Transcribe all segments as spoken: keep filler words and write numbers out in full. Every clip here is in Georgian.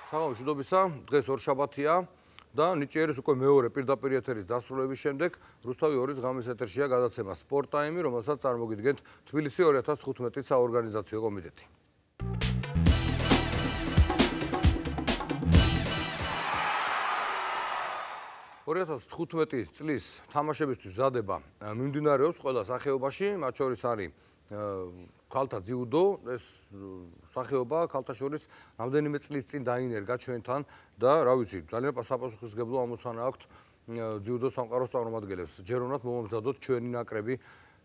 საღამოშუდობისა, დღეს ორშაბათია და ნიჭიერის უკვე მეორე პირდაპირ ეთერის დასრულების შემდეგ რუსთავი ორი ღამის ეთერშია გადაცემა სპორტ ტაიმი, რომელსაც წარმოგიდგენთ თბილისი ორი ათას თხუთმეტი საორგანიზაციო კომიტეტი. ორი ათას თხუთმეტი წლის თამაშებისთვის მზადება მიმდინარეობს ყველა სახეობაში, მათ შორის არის ქალთა ძიუდო, ეს სახეობა ქალთა შორის რამდენიმე წლის წინ დაინერგა ჩვენთან და რა ვიცი, ძალიან საპასუხისმგებლო ამოცანა აქვთ ძიუდო სამყაროს წარმომადგენლებს. ჯერ უნდა მომამზადოთ ჩვენი ნაკრები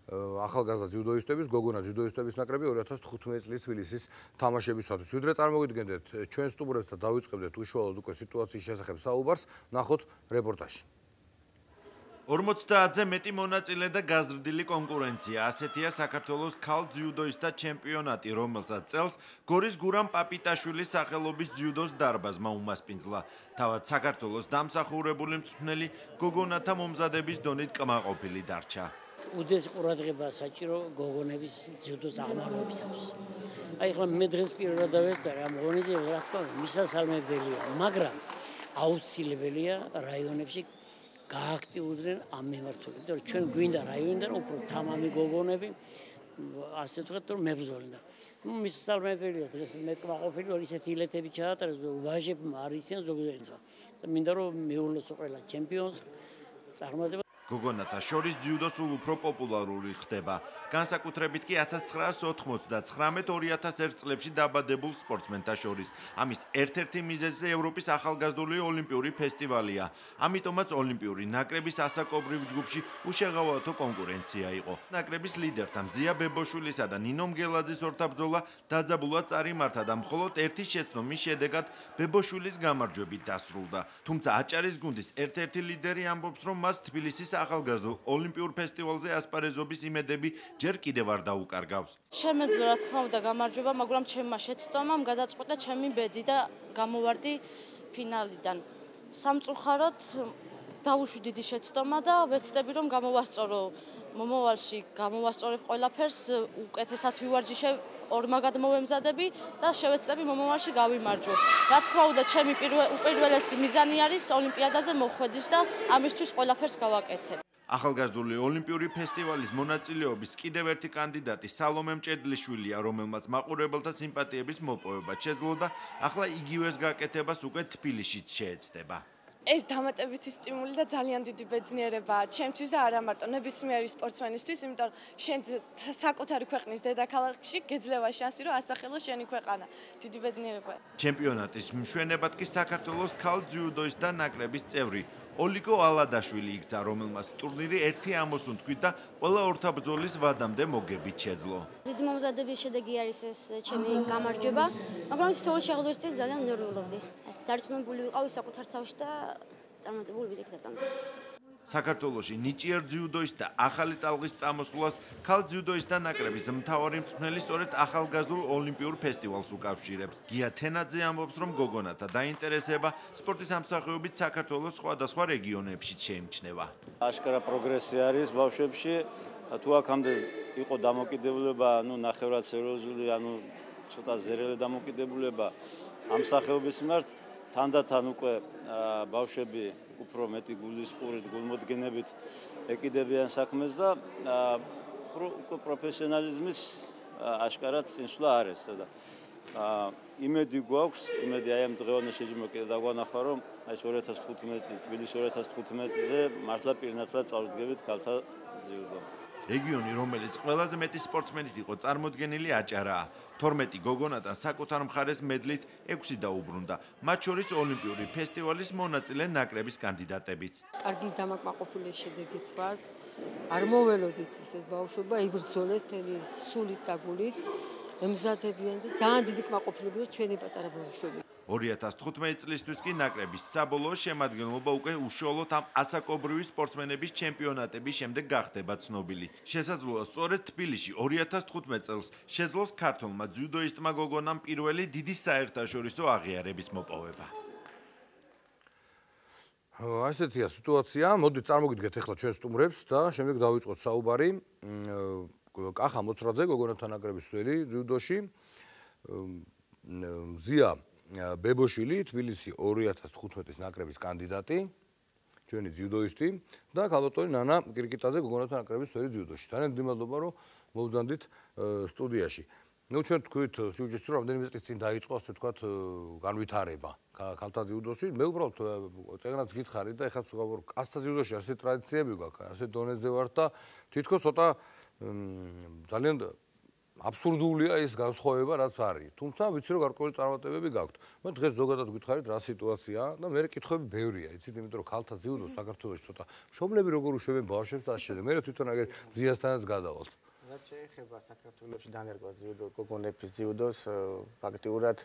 ახალგაზრდა ძიუდოისტების, გოგონა ძიუდოისტების ნაკრები ორი ათას თხუთმეტი წლის თბილისის თამაშებისათვის. ვიდრე წარმოგიდგენთ ჩვენ სტუმრებს და დავიწყებდეთ უშუალოდ უკვე სიტუაციის შესახებ საუბარს, ნახოთ რეპორტაჟი. ორმოცდაათზე მეტი მონაწილე და გაზრდილი კონკურენცია. ასეთია საქართველოს ქალ ძიუდოისტთა ჩემპიონატი, რომელსაც წელს გორის გურამ პაპიტაშვილის სახელობის ძიუდოს დარბაზმა უმასპინძლა. თავად საქართველოს დამსახურებული მწვრთნელი გოგონათა მომზადების დონით კმაყოფილი დარჩა. უდიდესი ყურადღება საჭირო გოგონების ძიუდოს აღმავლობისათვის. აი ახლა მე დღეს პირველად დავესწარი ამ ღონისძიებას, რა თქმა უნდა, მისასალმებელია, მაგრამ აუცილებელია რაიონებში გააქტიურდნენ ამ მიმართულებით. ჩვენ გვინდა რაიონიდან უფრო თამამი გოგონები, ასე ვთქვათ, რომ მებრძოლდნენ. ნუ მისასალმებელია დღეს მე კმაყოფილი ვარ ისეთი ილეთები ჩაატარეს, ვაჟებმა არ იციან ზოგადად. და მინდა რომ მეულოს ყველა ჩემპიონს წარმატება. გოგონათა შორის ძიუდო სულ უფრო პოპულარული ხდება. განსაკუთრებით კი ათას ცხრაასი ოცდათხმეტ ორი ათას ერთ წლებში დაბადებულ სპორტსმენთა შორის. ამის ერთ-ერთი მიზეზი ევროპის ახალგაზრდული ოლიმპიური ფესტივალია. ამიტომაც ოლიმპიური ნაკრების ასაკობრივ ჯგუფში უშეღავათო კონკურენცია იყო. ნაკრების ლიდერთა მზია ბებოშვილისა და ნინო მგელაძის ორთაბრძოლა დაძაბულად წარიმართა და მხოლოდ ერთი შეცდომის შედეგად ბებოშვილის გამარჯვებით დასრულდა. თუმცა აჭარის გუნდის ერთ-ერთი ლიდერი ამბობს, რომ მას თბილისის ახალგაზრდულ ოლიმპიურ ფესტივალზე ასპარეზობის იმედები ჯერ კიდევ არ დაუკარგავს. შემეძლო რა თქმა უნდა გამარჯვება, მაგრამ ჩემმა შეცდომამ გადაწყვეტა ჩემი ბედი და გამოვარდი ფინალიდან. სამწუხაროდ დავუშვი დიდი შეცდომა და ვეცდები რომ გამოვასწორო მომავალში, გამოვასწორებ ყველაფერს, უკეთესად ვივარჯიშებ, ორმაგად მოვემზადები და შევეცდები მომავალში გავიმარჯვო. რა თქმა უნდა, ჩემი უპირველესი მიზანი არის ოლიმპიადაზე მოხვედრის და ამისთვის ყველაფერს გავაკეთებ. ახალგაზრდული ოლიმპიური ფესტივალის მონაწილეობის კიდევ ერთი კანდიდატი სალომე მჭედლიშვილია, რომელმაც მაყურებელთა სიმპათიების მოპოვება შეძლო და ახლა იგივეს გაკეთებას უკვე თბილისშიც შეეცდება. ეს დამატებითი სტიმული და ძალიან დიდი ბედნიერებაა ჩემთვის და არა მარტო ნებისმიერი სპორტსმენისთვის, იმიტომ რომ შენ საკუთარი ქვეყნის დედაქალაქში გეძლევა შანსი, რომ ასახელო შენი ქვეყანა. დიდი ბედნიერებაა. ჩემპიონატის მშვენებად კი საქართველოს ქალ ძიუდოისტთა ნაკრების წევრი ოლიგო ალადაშვილი იქცა, რომელმაც ტურნირი ერთი ამოსუნთქვით და ყველა ორთაბრძოლის ვადამდე მოგებით შეძლო. დიდი მომზადების შედეგი არის ეს ჩემი გამარჯვება, მაგრამ თითოეულ შეხვედრის წინ ძალიან ნერვიულობდი. ერთ დარწმუნებული ვიყავი საკუთარ თავში და წარმატებული ვიდექ დაკამზე. საქართველოში ნიჭიერ ძიუდოისტთა ახალი ტალღის წამოსვლას ქალ ძიუდოისტთა ნაკრების მთავარი მწვრთნელი სწორედ ახალგაზრდულ ოლიმპიურ ფესტივალს უკავშირებს. გია თენაძე ამბობს, რომ გოგონათა დაინტერესება სპორტის ამსახურებით საქართველოს სხვადასხვა რეგიონებში შეიმჩნევა. აშკარა პროგრესი არის ბავშვებში, თუ აქამდე იყო დამოკიდებულება, ანუ ნახევრად სერიოზული, ანუ ცოტა ზერელი დამოკიდებულება ამ სახეობის მიმართ, თანდათან უკვე ბავშვები უფრო მეტი გულისყურით, გულმოდგენებით ეკიდებიან საქმეს და უკვე პროფესიონალიზმის აშკარად წინსვლა არის. და იმედი გვაქვს, იმედი აი ამ დღევანდელ შეჯიბრებაში კიდე დაგვანახა, რომ აი ორი ათას თხუთმეტი თბილისი ორი ათას თხუთმეტზე მართლა პირნათლად წავდგებით ქალთა ძიუდო. რეგიონი, რომელიც ყველაზე მეტი სპორტსმენით იყო წარმოდგენილი აჭარაა. თორმეტი გოგონათან საკუთარ მხარეს მედლით ექვსი დაუბრუნდა. მათ შორის ოლიმპიური ფესტივალის მონაწილე ნაკრების კანდიდატებიც. კარგი დამაკმაყოფილების შედეგით ვართ. არ მოველოდით ესეთ ბავშვობა, იბრძოლეთ თელი სულით და გულით, ემზადებიან და ძალიან დიდი კმაყოფილება ჩვენი პატარა ბავშვები. ორი ათას თხუთმეტი წლისთვის კი ნაკრების საბოლოო შემადგენლობა უკვე უშუალოდ ამ ასაკობრივი სპორტსმენების ჩემპიონატების შემდეგ გახდება ცნობილი. შესაძლოა სწორედ თბილისში ორი ათას თხუთმეტ წელს შეძლოს ქართველმა ძიუდოისტმა გოგონამ პირველი დიდი საერთაშორისო აღიარების მოპოვება. ასეთია სიტუაცია. მოდით წარმოგიდგეთ ახლა ჩვენ სტუმრებს და შემდეგ დავიწყოთ საუბარი. კახა მოცრაძე გოგონათა ნაკრების წევრი ძიუდოში. მზია ბებოშვილი, თბილისი ორი ათას თხუთმეტის ნაკრების კანდიდატი, ჩვენი ძიუდოისტი და ქალბატონი ნანა კირკიტაძე გოგონათა ნაკრების წევრი ძიუდოში. ძალიან მადლობა რომ მოვბრძანდით სტუდიაში. ნუ ჩვენ თქვით სიუჟეტში რომ რამდენიმე წლის წინ დაიწყო ასე ვთქვათ განვითარება ქალთა ძიუდოში. მე უბრალოდ წეგნაც გითხარი და ეხლა ვგავარ კაცთა ძიუდოში ასე ტრადიციები გვაქვს, ასე დონეზე ვართ და თითქოს ცოტა ძალიან აბსურდულია ის განსხვავება რაც არის. თუმცა ვიცი რომ გარკვეული წარმატებები გაქვთ. მე დღეს ზოგადად გითხარით რა სიტუაციაა და მე კითხვები ბევრია, იცით, იმიტომ რომ ქალთა ძიუდო საქართველოში ცოტა მშობლები როგორ უშვებენ ბავშვებს და ასე შემდეგ. მე თვითონ აგერ ძიასთანაც გადავალთ. რაც შეეხება საქართველოში დანერგვა ძიუდო გოგონების ძიუდოს, ფაქტიურად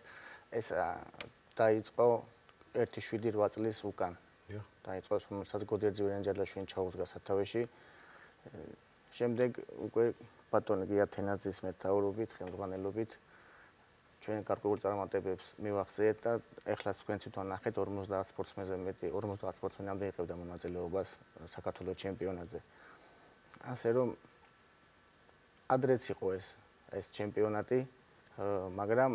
ეს დაიწყო ერთი შვიდი რვა წლის უკან. დაიწყო, რომელსაც გოდერძივი ანჯელაშვილი ჩაუდგა სათავეში. შემდეგ უკვე ბატონი გია თენაძის მეთაურობით, ხელმძღვანელობით ჩვენ გარკვეულ წარმატებებს მივაღწიეთ და ეხლა თქვენ თვითონ ნახეთ ორმოცდაათ სპორტსმენზე მეტი ორმოცდაათ სპორტსმენამდე იღებდა მონაწილეობას საქართველოს ჩემპიონატზე. ასე რომ ადრეც იყო ეს ეს ჩემპიონატი, მაგრამ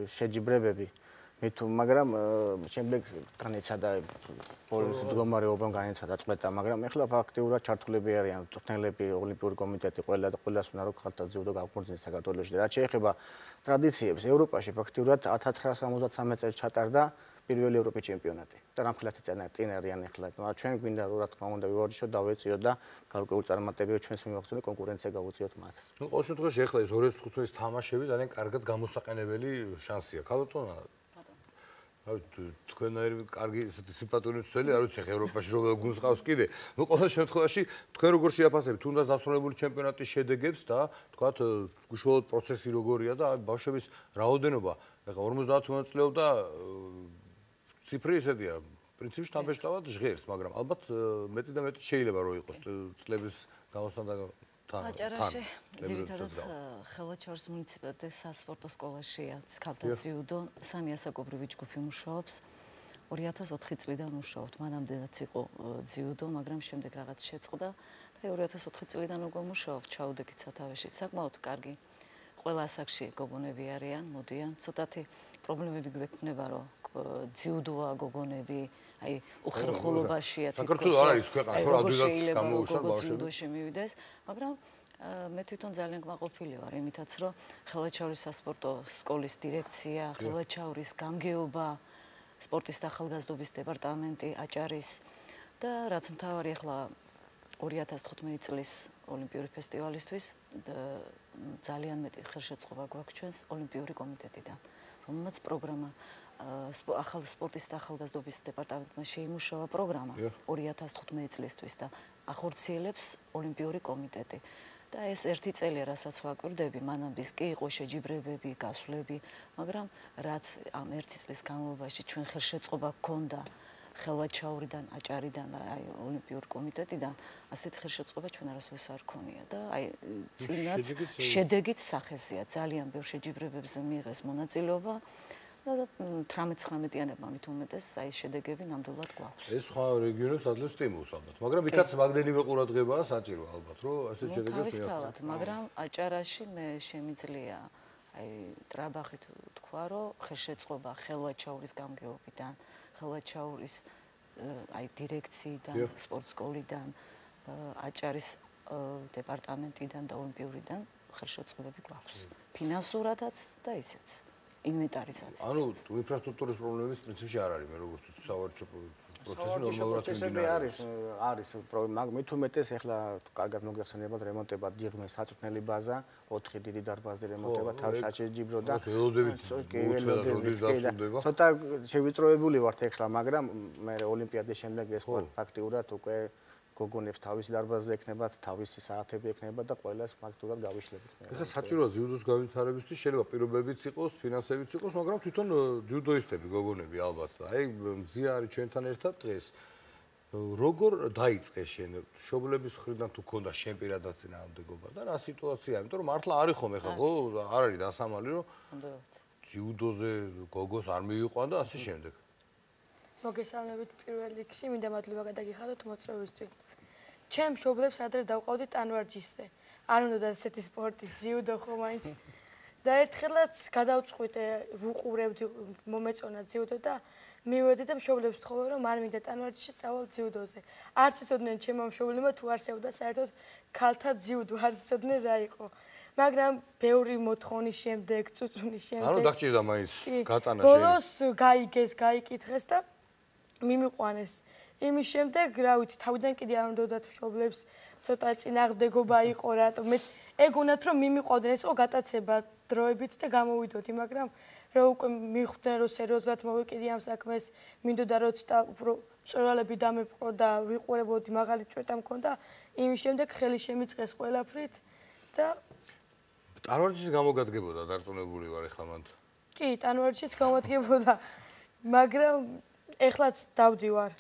შეჯიბრებები მით მაგრამ შემდეგ განეცადა პოლის მდგომარეობამ განეცადა წყვეტა, მაგრამ ეხლა ფაქტიურად ჩართულები არიან მწვრთნელები, ოლიმპიური კომიტეტი, ყველა და ყველას უნდა რომ ქალთა ძიუდო გავხმოწინოს საქართველოში. რაც შეეხება ტრადიციებს, ევროპაში ფაქტიურად ათას ცხრაასა ორმოცდამეცი წელს ჩატარდა პირველი ევროპის ჩემპიონატი და რამხილათი წინ არიან ეხლა. მაგრამ ჩვენ გვინდა რომ რა თქმა უნდა ვივარჯიშოთ, დავეწიოთ და გარკვეული წარმატებები ჩვენს მიმოხსნილი კონკურენცია გავუწიოთ მათ. ნუ ყოველ შემთხვევაში ეხლა ეს ორი ათას თხუთმეტის თამაშები ძალიან კარგად გამოსაყენებელი შანსია. ქალბატონო თქვენაერი კარგი ესეთი სიმპათიური მცველი არ ვიცი ხე ევროპაში როგორ გუნს ყავს კიდე. ნუ ყოველ შემთხვევაში თქვენ როგორ შეაფასებთ თუნდაც დასრულებული ჩემპიონატის შედეგებს და თქვათ უშუალოდ პროცესი როგორია და ბავშვების რაოდენობა ეხლა ორმოცდაათ მონაწილეობდა ციფრი ესეთია პრინციპში თამბეშტავად ჟღერს, მაგრამ ალბათ მეტი და მეტი შეიძლება რომ იყოს წლების გამოსვლა და აჭარაში ძირითადად ხელვაჩაურის მუნიციპალიტეტის სასპორტო სკოლაშია ქალთა ძიუდო, სამი ასაკობრივი ჯგუფი მუშაობს. ორი ათას ოთხი წლიდან მუშაობთ. მანამდეაც იყო ძიუდო, მაგრამ შემდეგ რაღაც შეწყდა და ორი ათას ოთხი წლიდან უკვე მუშაობ ჩაუდექით სათავეში. საკმაოდ კარგი. ყველა ასაკში გოგონები არიან, მოდიან. ცოტათი პრობლემები გვექნება, რომ ძიუდოა გოგონები, აი უხერხულობაშია თვითონ. საქართველოს არ არის ქვეყანა, ხო, ადვილად გამოუშვა ბავშვები. ძიუდოში მივიდეს, მაგრამ მე თვითონ ძალიან კმაყოფილი ვარ იმითაც, რომ ხელვაჩაურის სასპორტო სკოლის დირექცია, ხელვაჩაურის გამგეობა, სპორტის და ახალგაზრდობის დეპარტამენტი აჭარის და რაც მთავარი ახლა ორი ათას თხუთმეტი წლის ოლიმპიური ფესტივალისთვის ძალიან მეტი ხელშეწყობა გვაქვს ჩვენს ოლიმპიური კომიტეტიდან, რომელმაც პროგრამა ახალ სპორტის და ახალგაზრდობის დეპარტამენტმა შეიმუშავა პროგრამა ორი ათას თხუთმეტი წლისთვის და ახორციელებს ოლიმპიური კომიტეტი. და ეს ერთი წელი რასაც ვაკვირდები, მანამდეც კი იყო შეჯიბრებები, გასვლები, მაგრამ რაც ამ ერთი წლის განმავლობაში ჩვენ ხელშეწყობა გქონდა ხელვაჩაურიდან, აჭარიდან და აი ოლიმპიურ კომიტეტიდან, ასეთი ხელშეწყობა ჩვენ არასოდეს არ ქონია და აი წინაც შედეგით სახეზეა, ძალიან ბევრ შეჯიბრებებზე მიიღეს მონაწილეობა. და თერთმეტ ცხრამეტიანებმა მით უმეტეს აი შედეგები ნამდვილად გვაქვს. ეს სხვა რეგიონებს ადლებს სტიმულს ალბათ, მაგრამ იქაც მაგდენივე ყურადღებაა საჭირო ალბათ, რომ ასე შედეგებს მიაღწიოთ. მაგრამ აჭარაში მე შემიძლია აი ტრაბახით თქვა, რომ ხელშეწყობა ხელვაჩაურის გამგეობიდან, ხელვაჩაურის აი დირექციიდან, სპორტ სკოლიდან, აჭარის დეპარტამენტიდან და ოლიმპიურიდან ხელშეწყობები გვაქვს. ფინანსურადაც და ისეც. ინვენტარიზაცია. ანუ ინფრასტრუქტურის პრობლემების პრინციპში არ არის, მე როგორც სავარჯიშო პროცესი ნორმალურად მიმდინარეობს. არის, არის პრობლემა, მაგრამ მით უმეტეს ეხლა კარგად მოგეხსენებათ რემონტება დიღმის საწვრთნელი ბაზა, ოთხი დიდი დარბაზი რემონტება, თავში აჩეჯიბრო და ცოტა შევიწროებული ვართ ეხლა, მაგრამ მე ოლიმპიადის შემდეგ ეს ფაქტიურად უკვე გოგონებს თავისი დარბაზი ექნებათ, თავისი საათები ექნებათ და ყველას ფაქტურად გავიშლებით. ეხლა საჭიროა ძიუდოს განვითარებისთვის შეიძლება პირობებიც იყოს, ფინანსებიც იყოს, მაგრამ თვითონ ძიუდოისტები, გოგონები ალბათ. აი მზია არის ჩვენთან ერთად დღეს. როგორ დაიწყე შენ მშობლების მხრიდან თუ ქონდა შენ პირადად წინააღმდეგობა და რა სიტუაცია? იმიტომ რომ მართლა არის ხომ ეხლა ხო არ არის დასამალი რომ ძიუდოზე გოგოს არ მივიყვან და ასე შემდეგ. მოგესალმებით პირველ რიგში, მინდა მადლობა გადაგიხადოთ მოწვევისთვის. ჩემ მშობლებს ადრე დავყავდით ტანვარჯიშზე. არ უნდა ესეთი სპორტი, ძიუდო ხო მაინც. და ერთხელაც გადავწყვიტე ვუყურებდი მომეწონა ძიუდო და მივედი და მშობლებს ვთხოვე რომ არ მინდა ტანვარჯიშში წავალ ძიუდოზე. არც იცოდნენ ჩემმა მშობლებმა თუ არსებობდა საერთოდ ქალთა ძიუდო, არც იცოდნენ რა იყო. მაგრამ ბევრი მოთხოვნის შემდეგ, წუწუნის შემდეგ. ანუ დაგჭირდა მაინც გატანა შენ. ბოლოს გაიგეს, გაიკითხეს და მიმიყვანეს. იმის შემდეგ, რა ვიცი, თავიდან კიდე არ უნდათ მშობლებს, ცოტა წინააღმდეგობა იყო, რატომ მე ეგ უნდათ რომ მიმიყვავდნენ, ეს იყო გატაცება დროებით და გამოვიდოდი, მაგრამ რა უკვე მიხვდნენ რომ სერიოზულად მოვეკიდი ამ საქმეს, მინდოდა რომ ცოტა უფრო წვრალები დამეპყრო და ვიყურებოდი, მაღალი ჭვეტა მქონდა, იმის შემდეგ ხელი შემიწყეს ყველაფრით და ტანვარჯიშის გამოგადგებოდა დარწმუნებული ვარ ახლა მანდ. კი, ტანვარჯიშის გამოგადგებოდა, მაგრამ ეხლაც დავდივარ.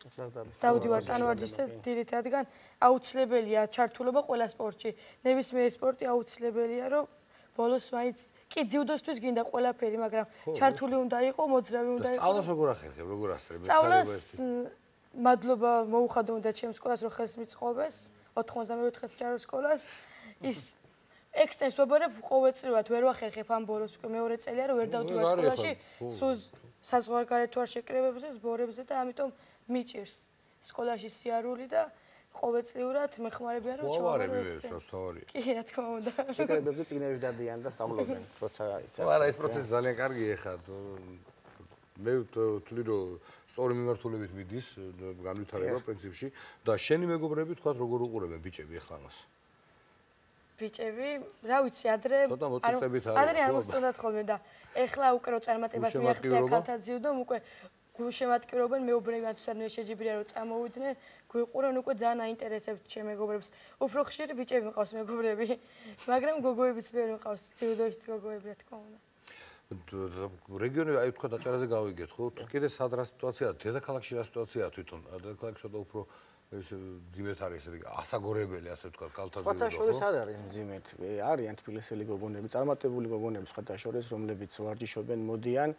დავდივარ ტანვარჯიშს და დილით, რადგან აუცილებელია ჩართულობა ყველა სპორტში. ნებისმიერი სპორტი აუცილებელია, რომ ბოლოს მაინც კი ძიუდოსთვის გინდა ყველაფერი, მაგრამ ჩართული უნდა იყო, მოძრავი უნდა იყო. სწავლას როგორ ახერხებ, როგორ ასწრებ? სწავლას მადლობა მოუხადო უნდა ჩემს სკოლას, რომ ხელს მიწყობეს, ოთხმოცდამეოთხე ჯარო სკოლას. ის ექსტენს ვებარებ ყოველწლიურად ვერ ვახერხებ ამ ბოროს უკვე მეორე წელია რომ ვერ დავდივარ სკოლაში, სულ საზღვარგარეთ ვარ შეკრებებზე, სბორებზე და ამიტომ მიჭირს სკოლაში სიარული და ყოველწლიურად მეხმარებიან რომ ჩავარები ეს თავარია. კი, რა თქმა უნდა. შეკრებებზე წიგნები დადიან და სწავლობენ, როცა იცი. არა, ეს პროცესი ძალიან კარგია ხა. მე ვთვლი რომ სწორი მიმართულებით მიდის განვითარება პრინციპში და შენი მეგობრები თქვა როგორ უყურებენ ბიჭები ახლა მას. ბიჭები, რა ვიცი, ადრე ადრე არ მოსწონდათ ხოლმე და ეხლა უკვე რო წარმატებას მიაღწია ქალთა ძიუდომ, უკვე გულშემატკივრობენ, მეუბნებიან თუ სადმე შეჯიბრია რომ წამოვიდნენ, გვიყურენ უკვე ძალიან აინტერესებთ ჩემ მეგობრებს. უფრო ხშირი ბიჭები მყავს მეგობრები, მაგრამ გოგოებიც ბევრი მყავს, ძიუდოში გოგოები რა თქმა უნდა. რეგიონი აი თქვა დაჭერაზე გავიგეთ, ხო? კიდე სად რა სიტუაციაა? დედაქალაქში რა სიტუაციაა თვითონ? დედაქალაქში ცოტა უფრო ეს ძიმეთ არის ესე ასაგორებელი ასე ვთქვა კალთა ძიუდო. სხვათა შორის არ არის ძიმეთ. არიან თბილისელი გოგონები, წარმატებული გოგონები სხვათა შორის, რომლებიც ვარჯიშობენ, მოდიან.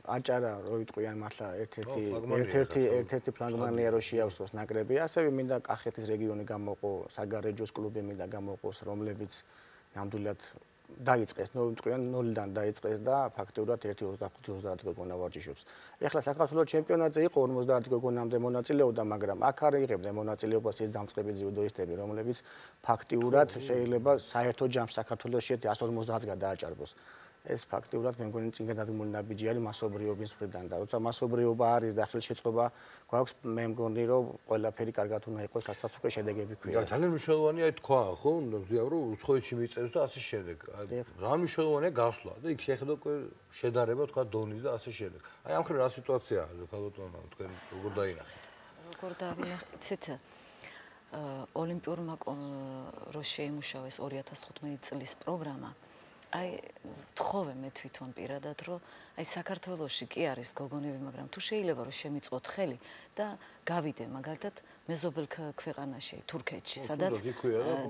აჭარა რო იტყვიან მართლა ერთ-ერთი ერთ-ერთი ერთ-ერთი ფლანგმანია რო შეავსოს ნაკრები. ასევე მინდა კახეთის რეგიონი გამოყო, საგარეჯოს კლუბი მინდა გამოყოს, რომლებიც ნამდვილად დაიწყეს, ნუ ვიტყვიან ნულიდან დაიწყეს და ფაქტიურად ერთი ოცდახუთი ოცდაათი გოგონა ვარჯიშობს. ეხლა საქართველოს ჩემპიონატზე იყო ორმოცდაათი გოგონამდე მონაწილეობდა, მაგრამ აქ არ იღებდნენ მონაწილეობას ის დამწყები ძიუდოისტები, რომლებიც ფაქტიურად შეიძლება საერთო ჯამს საქართველოში ერთი ას ორმოცდაათს გადააჭარბოს. ეს ფაქტიურად მე მგონი წინ გადადგმული ნაბიჯი არის მასობრიობის მხრიდან და როცა მასობრიობა არის და ხელშეწყობა გვაქვს, მე მგონი რომ ყველაფერი კარგად უნდა იყოს, რასაც უკვე შედეგები ქვია. და ძალიან მნიშვნელოვანია აი თქვა, ხო, ზია რომ უცხოეთში მიწევს და ასე შემდეგ. რა მნიშვნელოვანია გასვლა და იქ შეხედო შედარება თქვა დონის და ასე შემდეგ. აი ამ ხრივ რა სიტუაციაა ქალბატონო, თქვენ როგორ დაინახეთ? როგორ დაინახეთ? ოლიმპიურმა რო შეიმუშავეს ორი ათას თხუთმეტი წლის პროგრამა აი თხოვე მე თვითონ პირადად რომ აი საქართველოში კი არის გოგონები, მაგრამ თუ შეიძლება რომ შემიწყოთ ხელი და გავიდე მაგალითად მეზობელ ქვეყანაში, თურქეთში, სადაც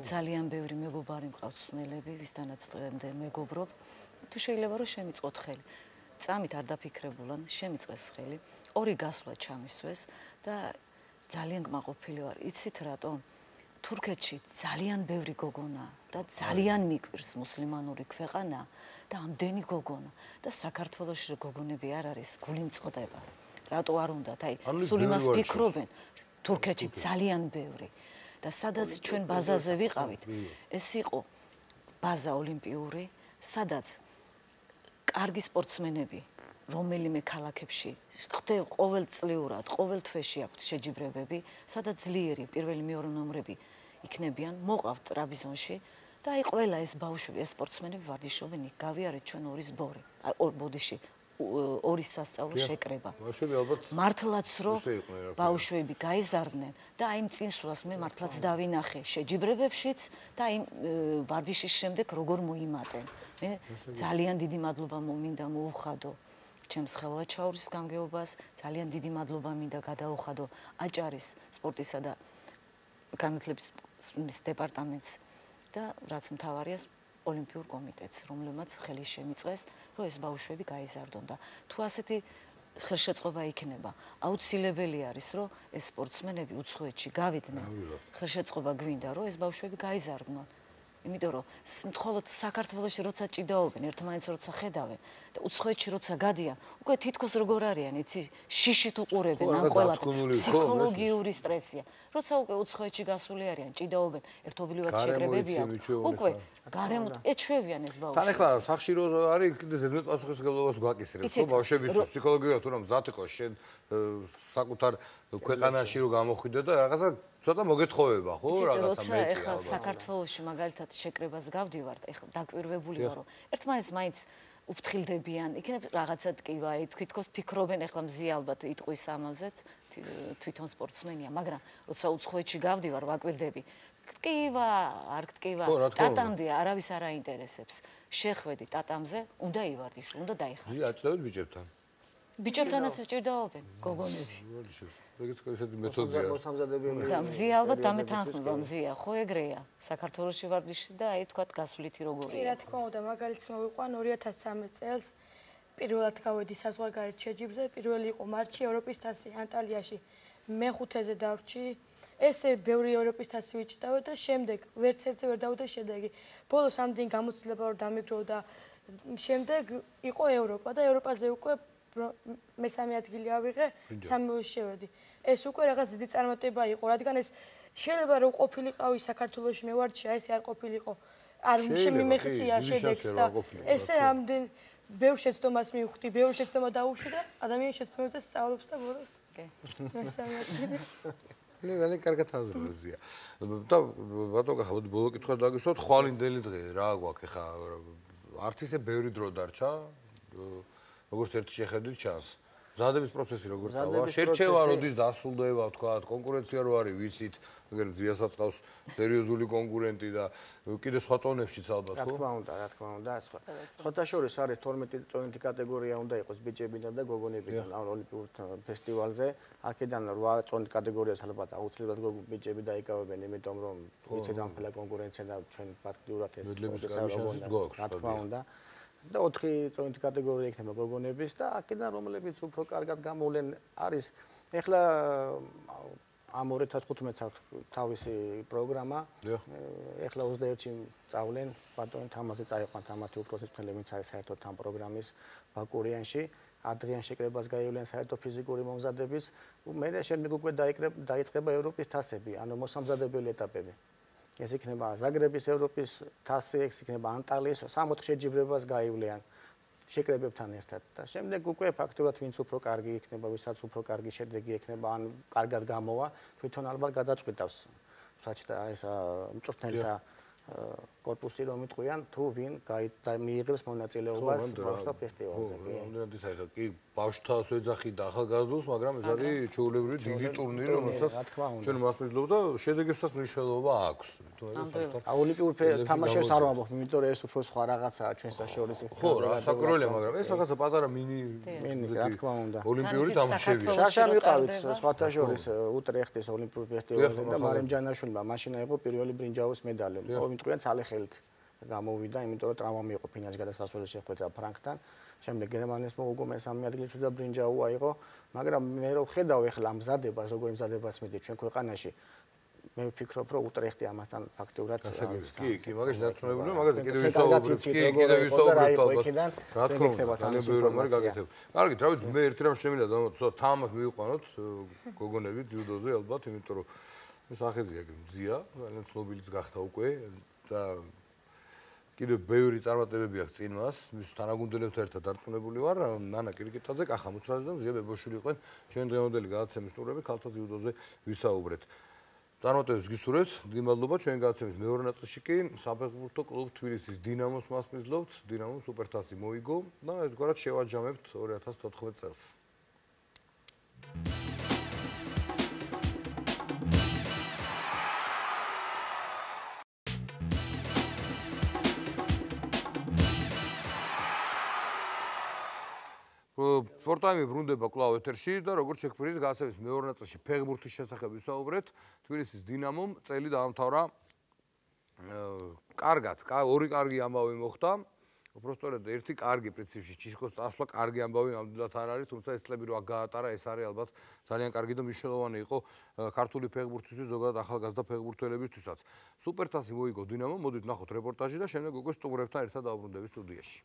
ძალიან ბევრი მეგობარი მყავს ცნელები, ვისთანაც დღემდე მეგობრობ, თუ შეიძლება რომ შემიწყოთ ხელი. წამით არ დაფიქრებულან შემიწყეს ხელი, ორი გასვლა ჩამისვეს და ძალიან გმაყოფილი ვარ. იცით რატომ? თურქეთში ძალიან ბევრი გოგონა და ძალიან მიკვირს მუსლიმანური ქვეყანა და ამდენი გოგონა და საქართველოში რო გოგონები არ არის, გული მწყდება. რატო არ უნდათ? აი, სულ იმას ფიქრობენ. თურქეთში ძალიან ბევრი და სადაც ჩვენ ბაზაზე ვიყავით, ეს იყო ბაზა ოლიმპიური, სადაც კარგი სპორტსმენები რომელიმე ქალაქებში ხდება ყოველწლიურად, ყოველ თვეში აქვთ შეჯიბრებები, სადაც ძლიერი პირველი მეორე ნომრები იქნებიან, მოყავთ ტრაპიზონში და აი ყველა ეს ბავშვები, ეს სპორტსმენები ვარჯიშობენ იქ, გავიარეთ ჩვენ ორი სბორი, აი ორ ბოდიში ორი სასწავლო შეკრება. ბავშვები ალბათ მართლაც რომ ბავშვები გაიზარდნენ და აი წინსვლას მე მართლაც დავინახე შეჯიბრებებშიც და აი ვარჯიშის შემდეგ როგორ მოიმატენ. მე ძალიან დიდი მადლობა მინდა მოუხადო ჩემს ხელვაჩაურის გამგეობას, ძალიან დიდი მადლობა მინდა გადაუხადო აჭარის სპორტისა და განათლების დეპარტამენტს და რაც მთავარია ოლიმპიურ კომიტეტს, რომლებმაც ხელი შემიწყეს, რომ ეს ბავშვები გაიზარდონ და თუ ასეთი ხელშეწყობა იქნება, აუცილებელი არის, რომ ეს სპორტსმენები უცხოეთში გავიდნენ. ხელშეწყობა გვინდა, რომ ეს ბავშვები გაიზარდნონ. იმიტომ რომ მხოლოდ საქართველოში როცა ჭიდაობენ, ერთმანეთს როცა ხედავენ და უცხოეთში როცა გადიან, უკვე თითქოს როგორ არიან, იცი, შიშით უყურებენ ამ ყველაფერს. ფსიქოლოგიური სტრესია. როცა უკვე უცხოეთში გასული არიან, ჭიდაობენ, ერთობლივად შეკრებები აქვს. უკვე გარემოთ ეჩვევიან ეს ბავშვი. თან ახლა სახში რო არის, კიდე ზედმეტ პასუხისმგებლობას გვაკისრებს, ხო, ბავშვებისთვის ფსიქოლოგიურად თუ რომ მზად იყო შენ საკუთარ ქვეყანაში რო გამოხვიდე და რაღაცა ცოტა მოგეთხოვება, ხო, რაღაცა მეტი. ეხლა საქართველოში მაგალითად შეკრებას გავდივართ, ეხლა დაკვირვებული ვარ, რომ ერთმანეთს მაინც უფრთხილდებიან, იქნებ რაღაცა ტკივა, თვითონ ფიქრობენ, ეხლა მზია ალბათ იტყვის ამაზეც, თვითონ სპორტსმენია, მაგრამ როცა უცხოეთში გავდივარ, ვაკვირდები, ტკივა, არ ტკივა, ტატამდე არავის არ აინტერესებს. შეხვედი ტატამზე, უნდა ივარდიშო, უნდა დაიხარჯო. ზია აჭდავთ ბიჭებთან? ბიჭებთანაც ჭირდაობენ გოგონები. ეგეც ესეთი მეთოდია. მოსამზადებელი. და მზია ალბათ დამეთანხმება, მზია, ხო ეგრეა. საქართველოში ვარდიში და აი თქვა გასვლითი როგორია. კი, რა თქმა უნდა, მაგალითს მოვიყვან ორი ათას ცხრამეტ წელს პირველად გავედი საზღვარგარეთ შეჯიბრზე, პირველი იყო მარტში ევროპის თასი ანტალიაში. მეხუთეზე დავრჩი. ესე ბევრი ევროპის თასი ვიჭდავე და შემდეგ ვერც ერთზე ვერ დავუდა შედეგი. ბოლოს ამდენი გამოცდილება რომ დამიგრო და შემდეგ იყო ევროპა და ევროპაზე უკვე მესამე ადგილი ავიღე, სამეულში შევედი. ეს უკვე რაღაც დიდი წარმატება იყო, რადგან ეს შეიძლება რომ ყოფილიყავი საქართველოში მე ვარდში, აი ესე არ ყოფილიყო. არ შემიმეღწია შედეგს და ესე რამდენ ბევრ შეცდომას მივხვდი, ბევრ შეცდომა დაუშვი და ადამიანის შეცდომებზე სწავლობს და ბოლოს. კი. მესამე ადგილი. ძალიან კარგად აზროვებია. და ბატონო ხა ბოლო კითხვა დაგისვათ, ხვალინდელი დღე რა გვაქვს ხა არც ისე ბევრი დრო დარჩა. როგორც ერთი შეხედვით ჩანს. მზადების პროცესი როგორ წავა? შერჩევა როდის დასრულდება, თქვა, კონკურენცია რო არის, ვიცით, მაგრამ ძიასაც ყავს სერიოზული კონკურენტი და კიდე სხვა წონებშიც ალბათ, ხო? რა თქმა უნდა, რა თქმა უნდა, სხვა. სხვათა შორის არის თორმეტი წონეთი კატეგორია უნდა იყოს ბიჭებიდან და გოგონებიდან ამ ოლიმპიურ ფესტივალზე. აქედან რვა წონით კატეგორიას ალბათ აუცილებლად ბიჭები დაიკავებენ, იმიტომ რომ ვიცით ამ ყველა კონკურენცია და ჩვენ ფაქტიურად ეს რა თქმა უნდა. და ოთხი წონითი კატეგორია იქნება გოგონების და აქედან რომლებიც უფრო კარგად გამოვლენ არის ეხლა ამ ორი ათას თხუთმეტს აქვს თავისი პროგრამა ეხლა ოცდაერთში წავლენ ბატონი თამაზე წაიყვანთ ამათი უფროსისმფრენი ვინც არის საერთოდ ამ პროგრამის ბაკურიანში ადრიან შეკრებას გაივლიან საერთოდ ფიზიკური მომზადების მე შემდეგ უკვე დაიწყება ევროპის თასები ანუ მოსამზადებელი ეტაპები ეს იქნება ზაგრების ევროპის თასი, ეს იქნება ანტალიის სამოთხე შეჯიბრებას გაივლიან შეკრებებთან ერთად და შემდეგ უკვე ფაქტურად ვინც უფრო კარგი იქნება, ვისაც უფრო კარგი შედეგი ექნება, ან კარგად გამოვა, თვითონ ალბათ გადაწყვეტავს საჭდა ეს მწვრთნელთა корпуси რომ იტყვიან თუ ვინ მიიღებს მონაწილეობას ბავშვთა ფესტივალზე. ამდენად ის ახლა კი ბავშვთას ეძახი და ახალგაზრდულს, მაგრამ ეს არის ჩვეულებრივი დიდი ტურნირი, რომელსაც ჩვენ მასპინძლობ და შედეგებსაც მნიშვნელობა აქვს. ოლიმპიურ თამაშებს არ ვამბობ, იმიტომ რომ ეს უფრო სხვა რაღაცაა ჩვენ საშუალო ხო, რა საკურველია, მაგრამ ეს რაღაცა პატარა მინი მინი, რა თქმა უნდა. ოლიმპიური თამაშები. შარშან ვიყავით სხვათა შორის უტრეხტის ოლიმპიურ ფესტივალზე და მარიამ ჯანაშვილმა მაშინ აიღო პირველი ბრინჯაოს მედალი. მიტყვიან ცალეხელით გამოვიდა, იმიტომ რომ ტრავმა მიიღო ფინალში გადასასვლელი შეხვედრა ფრანკთან. შემდეგ გერმანიის მოუგო მესამე ადგილს და ბრინჯაო აიღო, მაგრამ მე რო ხედავ ეხლა მზადებას, როგორი მზადებას მიდის ჩვენ ქვეყანაში, მე ვფიქრობ, რომ უტრეხტი ამასთან ფაქტიურად კი, კი, მაგაში დარწმუნებულია, მაგაზე კიდევ ვისაუბრებთ, კი, კიდევ ვისაუბრებთ ალბათ. რა თქმა უნდა, ძალიან ბევრი რამე გაკეთებ. კარგი, რა ვიცი, მე ერთი რამ შემიძლია და თამაშ მივიყვანოთ გოგონები ძიუდოზე ალბათ, იმიტომ რომ ეს ახეზია მზია, ძალიან ცნობილიც გახდა უკვე და კიდევ ბევრი წარმატებები აქვს წინ მას, მის თანაგუნდელებთან ერთად დარწმუნებული ვარ, ნანა კირიკიტაძე, კახა მუცრაძე და მზია ბებოშვილი იყვნენ ჩვენ დღევანდელი გადაცემის სტუმრები ქალთა ძიუდოზე ვისაუბრეთ. წარმატებებს გისურვებთ, დიდი მადლობა ჩვენ გადაცემის მეორე ნაწილში კი საფეხბურთო კლუბ თბილისის დინამოს მასპინძლობთ, დინამომ სუპერთასი მოიგო და ერთგვარად შევაჯამებთ ორი ათას თოთხმეტ წელს. სპორტაიმი ბრუნდება კვლავ ეთერში და როგორც შეგვიძლია გადაცემის მეორე ნაწილში ფეხბურთის შესახებ ვისაუბრეთ. თბილისის დინამომ წელი დაამთავრა კარგად, ორი კარგი ამბავი მოხდა. უпростоრად ერთი კარგი პრინციპში ჩისკოს წასვლა კარგი ამბავი ნამდვილად არ არის, თუმცა ეს წლები რო აქ გაატარა, ეს არის ალბათ ძალიან კარგი და მნიშვნელოვანი იყო ქართული ფეხბურთისთვის, ზოგადად ახალგაზრდა ფეხბურთელებისთვისაც. სუპერთასი მოიგო დინამო, მოდით ნახოთ რეპორტაჟი და შემდეგ უკვე სტუმრებთან ერთად დავბრუნდებით სტუდიაში.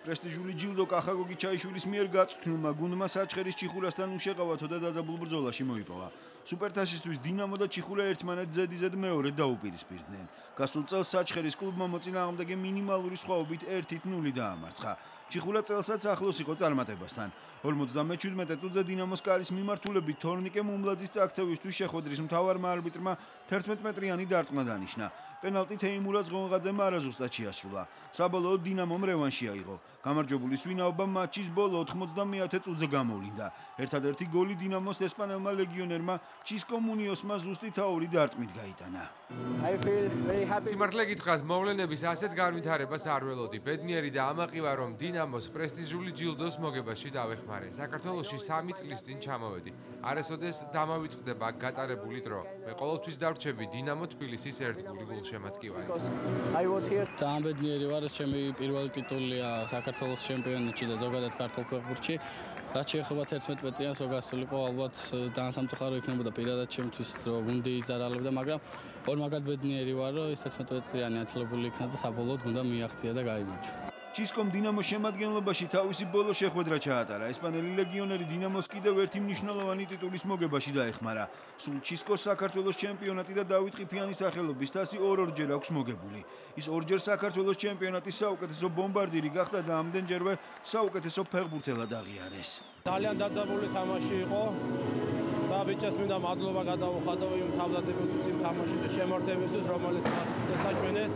პრესტიჟული ჯილდო კახა გოგიჩაიშვილის მიერ გაწვრთნილმა გუნდმა საჩხერის ჩიხურასთან უშეყავათო და დაძაბულ ბრძოლაში მოიპოვა. სუპერთასისთვის დინამო და ჩიხურა ერთმანეთს ზედიზედ მეორედ დაუპირისპირდნენ. გასულ წელს საჩხერის კლუბმა მოწინააღმდეგე მინიმალური სხვაობით ერთი ნული დაამარცხა. ჩიხურა წელსაც ახლოს იყო წარმატებასთან. ორმოცდამეჩვიდმეტე წუთზე დინამოს კარის მიმართულებით თორნიკე მუმლაძის წაქცევისთვის შეხვედრის მთავარმა არბიტრმა თერთმეტმეტრიანი დარტყმა დანიშნა. პენალტი თეიმურაზ ღონღაძემ არაზუსტად შეასრულა. საბოლოოდ დინამომ რევანში აიღო. გამარჯვებულის ვინაობა მატჩის ბოლო ოთხმოცდამეათე წუთზე გამოვლინდა. ერთადერთი გოლი დინამოს ესპანელმა ლეგიონერმა ჩისკო მუნიოსმა ზუსტი თაური დარტყმით გაიტანა. სიმართლე გითხრათ, მოვლენების ასეთ განვითარებას არ ველოდი. ბედნიერი და ამაყი ვარ, რომ დინამოს პრესტიჟული ჯილდოს მოგებაში დავეხმარე. საქართველოში სამი წლის წინ ჩამოვედი. არასოდეს დამავიწყდება გატარებული დრო. მე ყოველთვის დავრჩები დინამო თბილისის ერთგული გულშემატკივარი. ძალიან ბედნიერი ვარ, ჩემი პირველი ტიტულია საქართველოს ჩემპიონატში და ზოგადად ქართულ ფეხბურთში. რაც შეეხება თერთმეტმეტრიანს, რო გასულიყო, ალბათ ძალიან სამწუხარო იქნებოდა პირადად ჩემთვის, რომ გუნდი იზარალებდა, მაგრამ ორ მაგად ბედნიერი ვარ, რომ ეს თერთმეტმეტრიანი აცილებული იქნა და საბოლოოდ გუნდა მიაღწია და გაიმარჯვა. ჩისკომ დინამოს შემადგენლობაში თავისი ბოლო შეხვედრა ჩაატარა. ესპანელი ლეგიონერი დინამოს კიდევ ერთი მნიშვნელოვანი ტიტულის მოგებაში დაეხმარა. სულ ჩისკოს საქართველოს ჩემპიონატი და დავით ყიფიანის სახელობის თასი ორ-ორჯერ აქვს მოგებული. ის ორჯერ საქართველოს ჩემპიონატის საუკეთესო ბომბარდირი გახდა და ამდენჯერვე საუკეთესო ფეხბურთელად აღიარეს. ძალიან დაძაბული თამაში იყო და ბიჭებს მინდა მადლობა გადავუხადო იმ თავდადებისთვის, იმ თამაშის შემართებისთვის, რომელიც დასაჩვენეს.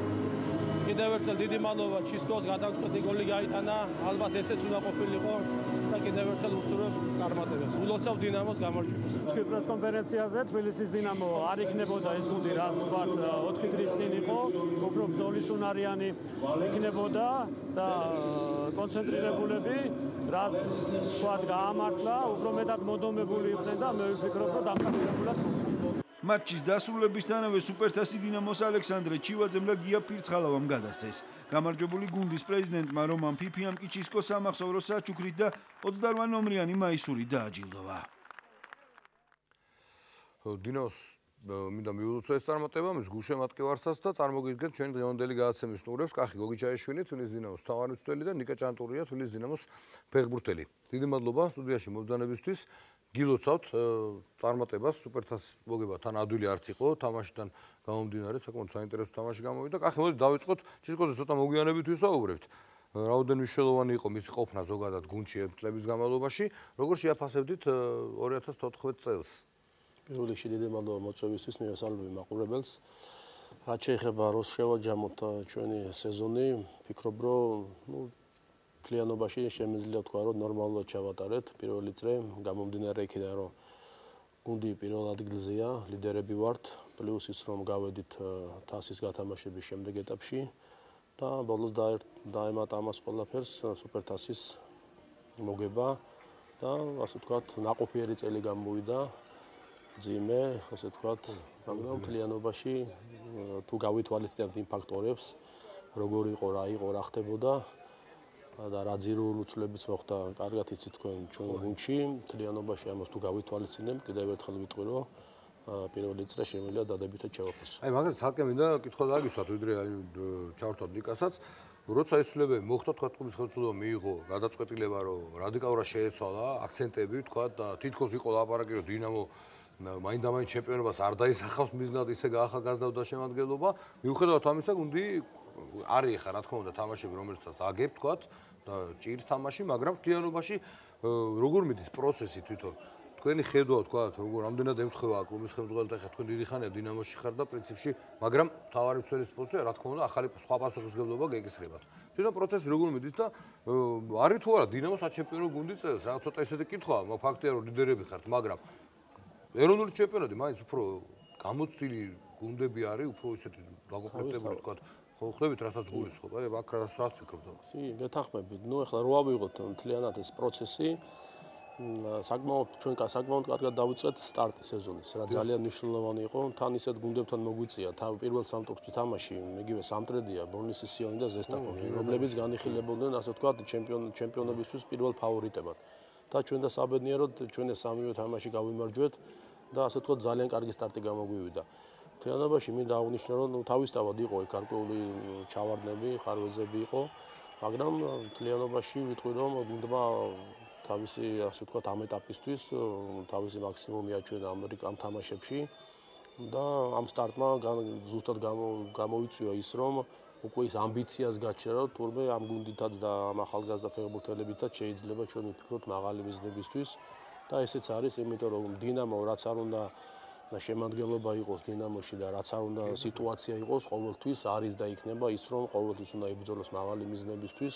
კიდევ ერთხელ დიდი მადლობა ჩისკოს, გადამწყვეტი გოლი გაიტანა, ალბათ ესეც უნდა ყოფილიყო და კიდევ ერთხელ ვუსურვებ წარმატებას. ულოცავ დინამოს გამარჯვებას. თქვი პრესკონფერენციაზე თბილისის დინამო არ იქნებოდა ეს გუნდი, რაც ვთქვათ, ოთხი დღის წინ იყო, უფრო ბრძოლისუნარიანი იქნებოდა და კონცენტრირებულები, რაც ვთქვათ, გაამართლა, უფრო მეტად მოდომებული იყვნენ და მე ვფიქრობ, რომ დამხმარებლად მატჩის დასრულებისთანავე სუპერთასი დინამოს ალექსანდრე ჩივაძემ და გია ფირცხალავამ გადასცეს. გამარჯვებული გუნდის პრეზიდენტმა რომან ფიფიამ კი ჩისკოს სამახსოვრო საჩუქრით და ოცდაოთხ ნომრიანი მაისურით დააჯილდოვა. დინამოს მინდა მიულოცო ეს წარმატება, მის გულშემატკივარსაც და წარმოგიდგენთ ჩვენი დღევანდელი გადაცემის სტუმრებს, კახი გოგიჩაიშვილი, თბილისის დინამოს მთავარმცველი და ნიკა ჭანტურია, თბილისის დინამოს ფეხბურთელი. დიდი მადლობა სტუდიაში მობრძანებისთვის. გილოცავთ წარმატებას, სუპერთასის მოგება თან ადვილი არც იყო, თამაშიდან გამომდინარე, საკმაოდ საინტერესო თამაში გამოვიდა. კახი, მოდით დავიწყოთ ჩისკოზე ცოტა მოგვიანებით ვისაუბრებთ. რაოდენ მნიშვნელოვანი იყო მისი ყოფნა ზოგადად გუნდში ერთ წლების განმავლობაში, როგორ შეაფასებდით ორი ათას თოთხმეტ წელს? პირველ რიგში დიდი მადლობა მოწვევისთვის, მივესალმები მაყურებელს. რაც შეეხება როს შევაჯამოთ ჩვენი სეზონი, ფიქრობ, რომ ნუ მთლიანობაში შემიძლია თქვა, რომ ნორმალურად ჩავატარეთ პირველი წრე, გამომდინარე იქიდან, რომ გუნდი პირველ ადგილზეა, ლიდერები ვართ, პლუს ის რომ გავედით თასის გათამაშების შემდეგ ეტაპში და ბოლოს დაემატა ამას ყველაფერს სუპერთასის მოგება და ასე ვთქვათ, ნაყოფიერი წელი გამოვიდა, ძიმე, ასე ვთქვათ, მაგრამ მთლიანობაში თუ გავითვალისწინებთ იმ ფაქტორებს, როგორ იყო, რა იყო, რა ხდებოდა და რა ძირული უცვლებიც მოხდა, კარგად იცით თქვენ ჩვენ გუნდში, მთლიანობაში ამას თუ გავითვალისწინებთ, კიდევ ერთხელ ვიტყვი, რომ პირველი წრე შემიძლია დადებითად ჩავაფასო. აი, მაგას თალკე მინდა კითხვა დაგისვათ, ვიდრე აი ჩავრთოთ ნიკასაც, როცა ეს ცვლილებები მოხდა, თქვა კლუბის ხელმძღვანელობა მიიღო გადაწყვეტილება, რომ რადიკალურად შეეცვალა აქცენტები, თქვა და თითქოს იყო ლაპარაკი, რომ დინამო მაინდამაინც ჩემპიონობას არ დაისახავს მიზნად, ისე გაახალგაზრდა შემადგენლობა. მიუხედავად ამისა, გუნდი არის ახლა რა თქმა უნდა თამაშები, რომელსაც აგებ, თქვა და ჭირს თამაში, მაგრამ მთლიანობაში როგორ მიდის პროცესი თვითონ? თქვენი ხედვა, თქვა, როგორ რამდენად ემთხვევა კლუბის ხელმძღვანელთა ხა თქვენ დიდი ხანია დინამოში ხარ და პრინციპში, მაგრამ თავარი მცველის პოზიცია, რა თქმა უნდა, ახალი სხვა პასუხისმგებლობა გეკისრებათ. თვითონ პროცესი როგორ მიდის და არის თუ არა დინამოს საჩემპიონო გუნდი წელს, რა ცოტა ისეთი კითხვაა, ფაქტია რომ ლიდერები ხართ, მაგრამ ეროვნული ჩემპიონატი მაინც უფრო გამოცდილი გუნდები არის, უფრო ისეთი დაკომპლექტებული, თქვა, ხო ხვდებით რასაც გულისხმობ, აი აქ რას რას ფიქრობთ ამას? კი, გეთანხმებით. ნუ ახლა რო ავიღოთ მთლიანად ეს პროცესი, საკმაოდ ჩვენ საკმაოდ კარგად დავიწყეთ სტარტი სეზონის, რა ძალიან მნიშვნელოვანი იყო. თან ისეთ გუნდებთან მოგვიწია, თავ პირველ სამ ტურში თამაში, იგივე სამტრედია, ბორნისი სიონი და ზესტაფონი, რომლებიც განიხილებოდნენ, ასე ვთქვათ, ჩემპიონ ჩემპიონობისთვის პირველ ფავორიტებად. და ჩვენ და საბედნიეროდ ჩვენ ეს სამივე თამაში გავიმარჯვეთ და ასე ვთქვათ, ძალიან კარგი სტარტი გამოგვივიდა. თეანობაში მინდა აღნიშნო, რომ თავისთავად იყო ეგ გარკვეული ჩავარდნები, ხარვეზები იყო, მაგრამ თლიანობაში ვიტყვი, რომ გუნდმა თავისი ასე ვთქვათ ამ ეტაპისთვის თავისი მაქსიმუმი აჩვენა ამ თამაშებში და ამ სტარტმა ზუსტად გამოიწვია ის რომ უკვე ის ამბიციას გაჩერა თურმე ამ გუნდითაც და ამ ახალგაზრდა ფეხბურთელებითაც შეიძლება ჩვენ ვფიქროთ მაღალი მიზნებისთვის და ესეც არის იმიტომ რომ დინამო რაც არ უნდა და შემადგენლობა იყოს დინამოში და რაც არ უნდა სიტუაცია იყოს ყოველთვის არის და იქნება ის რომ ყოველთვის უნდა იბრძოლოს მაღალი მიზნებისთვის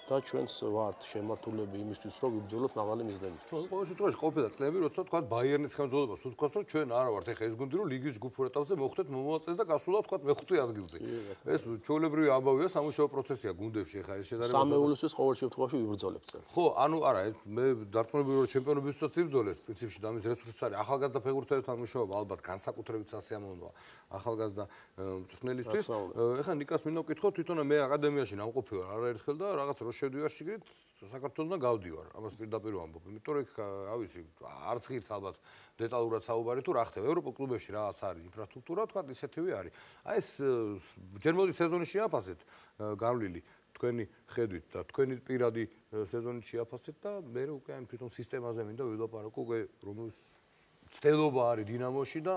და ჩვენს ვართ შემართულები იმისთვის რომ ვიბრძოლოთ მაღალი მიზნებისთვის. ყოველ შემთხვევაში ყოფილა წლები, როცა თქვა ბაიერნის ხელმძღვანელობას უთქვას, რომ ჩვენ არა ვართ ეხა ეს გუნდი, რომ ლიგის ჯგუფურ ეტაპზე მოხვდეთ მომავალ და გასულა თქვა მეხუთე ადგილზე. ეს ჩვეულებრივი ამბავია, სამუშაო პროცესია გუნდებში ეხა ეს შედარება. სამეულისთვის ყოველ შემთხვევაში ვიბრძოლებთ წელს. ხო, ანუ არა, მე დარწმუნებული ვარ ჩემპიონობისთვისაც ვიბრძოლებ, პრინციპში და ამის რესურსი არის ახალგაზრდა ფეხბურთელებთან მუშაობა, ალბათ განსაკუთრებით სასიამოვნოა ახალგაზრდა მწვრთნელისთვის. ეხა ნიკას მინდა ვკითხო, თვითონ მე აკადემიაში ნამყოფი ვარ არაერთხელ და რაღაც რო შევდივარ შიგნით საქართველოსთან გავდივარ. ამას პირდაპირ ვამბობ, იმიტომ რომ ავისი არც ღირს ალბათ დეტალურად საუბარი თუ რა ხდება ევროპულ კლუბებში რაღაც არის ინფრასტრუქტურა, თქვა ისეთივე არის. აი ეს ჯერ მოდი სეზონის შეაფასეთ გავლილი თქვენი ხედვით და თქვენი პირადი სეზონის შეაფასეთ და მე უკვე ამ თვითონ სისტემაზე მინდა ვილაპარაკო უკვე რომელიც ცდელობა არის დინამოში და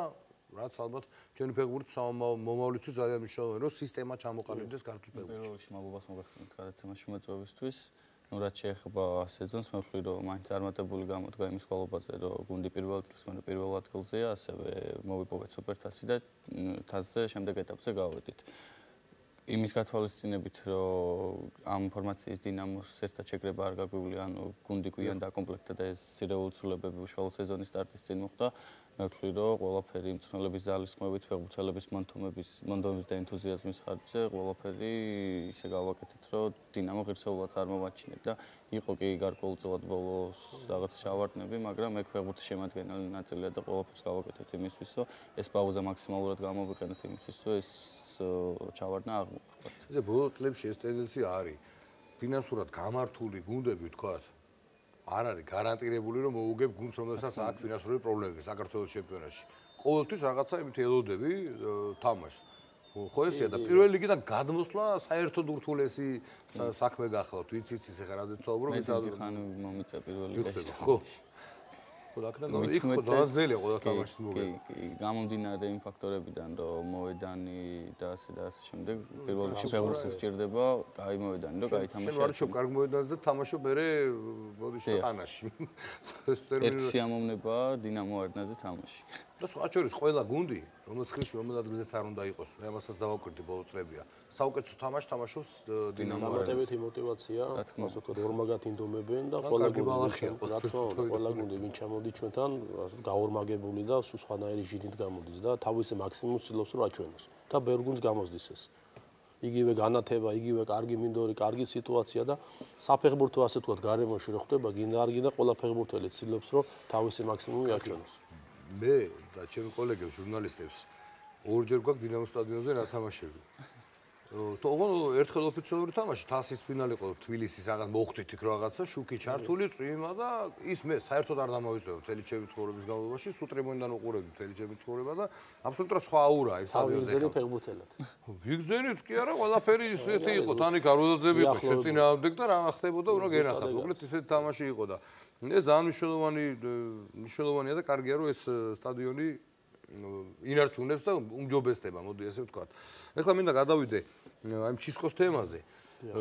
რაც ალბათ ჩვენი ფეხბურთის მომავლისთვის ძალიან მნიშვნელოვანია რომ სისტემა ჩამოყალიბდეს ქართულ ფეხბურთში. პირველ რიგში მადლობას მოგახსენებთ გადაცემაში მოწვევისთვის. ну რაც შეეხება სეზონს მე ვფიქრობ რომ მაინც წარმატებული გამოდგა იმის ხვალობაზე რომ გუნდი პირველ წელს მე პირველ ადგილზეა ასევე მოვიპოვეთ სუპერთასი და თასზე შემდეგ ეტაპზე გავედით იმის გათვალისწინებით რომ ამ ფორმაციის დინამოს ერთად შეკრება არ გაგვივლია ანუ გუნდი გვიან დაკომპლექტდა და ეს სირევოლუციოლებები უშუალო სეზონის სტარტის წინ მოხდა მე ვფიქრობ რომ ყველაფერი მწვრთნელების ძალისხმევით ფეხბურთელების მონთომების მონდომის და ენთუზიაზმის ხარჯზე ყველაფერი ისე გავაკეთეთ რომ დინამო ღირსეულად წარმოვაჩინეთ და იყო კი გარკვეულწილად ბოლოს რაღაც ჩავარდნები მაგრამ ეგ ფეხბურთის შემადგენელი ნაწილია და ყველაფერს გავაკეთეთ იმისთვის რომ ეს პაუზა მაქსიმალურად გამოვიყენოთ იმისთვის რომ ეს ჩავარდნა აღმოხდეს. ესე ბოლო წლებში ეს ტენდენცია არის. ფინანსურად გამართული გუნდები ვთქვათ არ არის გარანტირებული რომ მოუგებ გუნდს რომელსაც აქვს ფინანსური პრობლემები საქართველოს ჩემპიონატში. ყოველთვის რაღაცა იმით ელოდები თამაშს. ხო ესეა და პირველ ლიგიდან გადმოსვლა საერთოდ ურთულესი საქმე გახლავთ. ვიცი იცის ახლა რადგან საუბრობ მე ხან მომიწა პირველ ლიგაში. ხო ხო აქედან იქ ხო დაძველია ყველა თამაშის მოგება. კი, კი, გამომდინარე იმ ფაქტორებიდან, რომ მოედანი და ასე და ასე შემდეგ, პირველ რიგში ფეხბურთს სჭირდება, კაი მოედანი, რომ კაი თამაში. შენ ვარჩობ კარგ მოედანზე და თამაშობ მერე ბოდიში და ყანაში. ეს ტერმინი ერთ სიამოვნება დინამო არნაზე თამაში. და სხვა შორის ყველა გუნდი, რომელიც ხილში რომელ ადგილზეც არ უნდა იყოს, მე ამასაც დავაკვირდი ბოლო წლებია. საუკეთესო თამაშს თამაშობს დინამო არნაზე. დამატებითი мотиваცია, ასე ვთქვათ, ორმაგად ინდომებენ და ყველა გუნდი, ყველა გუნდი ვინ ჩამოდი ჩვენთან, გაორმაგებული და სულ სხვანაირი ჟიდით გამოდის და თავისი მაქსიმუმს ცდილობს რომ აჩვენოს და ბევრ გუნდს გამოსდის ეს. იგივე განათება, იგივე კარგი მინდორი, კარგი სიტუაცია და საფეხბურთო ასე ვთქვათ, გარემოში რო ხდება, გინდა არ გინდა ყველა ფეხბურთელი ცდილობს რომ თავისი მაქსიმუმი აჩვენოს. მე და ჩემი კოლეგებს ჟურნალისტებს ორჯერ გვაქვს დინამო სტადიონზე რა თამაშები. თողონ ერთხელ ოფიციალური თამაში თასის ფინალი იყო თბილისის რაღაც მოხდით იქ რაღაცა შუქი ჩართული წვიმა და ის მე საერთოდ არ დამოვიზრდები მთელი ჩემი ცხოვრების განმავლობაში სუტრემონიდან უყურებდი მთელი ჩემი ცხოვრება და აბსოლუტურად სხვა აურაა იმ სტადიონზე ახლა ფეხბურთელად ვიგზენით კი არა ყველაფერი ისეთი იყო თანიქ აროდაძები იყო შეწინააღმდეგ და რა ხდებოდა უნდა გენახათ მოკლედ ისეთი თამაში იყო და ეს ძალიან მნიშვნელოვანი მნიშვნელოვანია და კარგია რომ ეს სტადიონი ინარჩუნებს და უმჯობესდება, მოდი ასე ვთქვათ. ეხლა მინდა გადავიდე აი ჩისკოს თემაზე.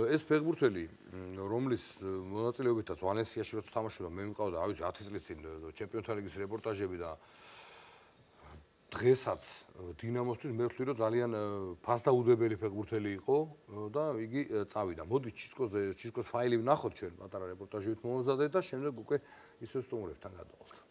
ეს ფეხბურთელი, რომლის მონაწილეობითაც ვალენსიაში როცა თამაშობდა, მე მიყავდა, რა ვიცი, ათი წლის წინ ჩემპიონთა ლიგის რეპორტაჟები და დღესაც დინამოსთვის მე ვთვლი, რომ ძალიან ფასდაუდებელი ფეხბურთელი იყო და იგი წავიდა. მოდი ჩისკოზე, ჩისკოს ფაილი ვნახოთ ჩვენ, პატარა რეპორტაჟით მომზადეთ და შემდეგ უკვე ისევ სტუმრებთან გადავალთ.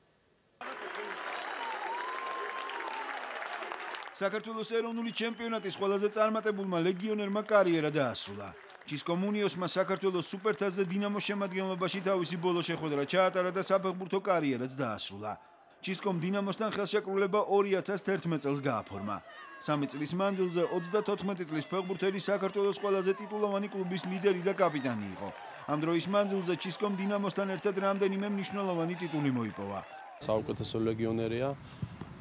საქართველოს ეროვნული ჩემპიონატის ყველაზე წარმატებულმა ლეგიონერმა კარიერა დაასრულა. ჭისკომუნიოსმა საქართველოს სუპერთასზე დინამოს შემადგენლობაში თავისი ბოლო შეხვედრა ჩაატარა და საფეხბურთო კარიერაც დაასრულა. ჭისკომ დინამოსთან ხელშეკრულება ორი ათას თერთმეტ წელს გააფორმა. სამი წლის მანძილზე ოცდათოთხმეტი წლის ფეხბურთელი საქართველოს ყველაზე ტიტულოვანი კლუბის ლიდერი და კაპიტანი იყო. ამ დროის მანძილზე ჭისკომ დინამოსთან ერთად რამდენიმე მნიშვნელოვანი ტიტული მოიპოვა. საუკეთესო ლეგიონერია.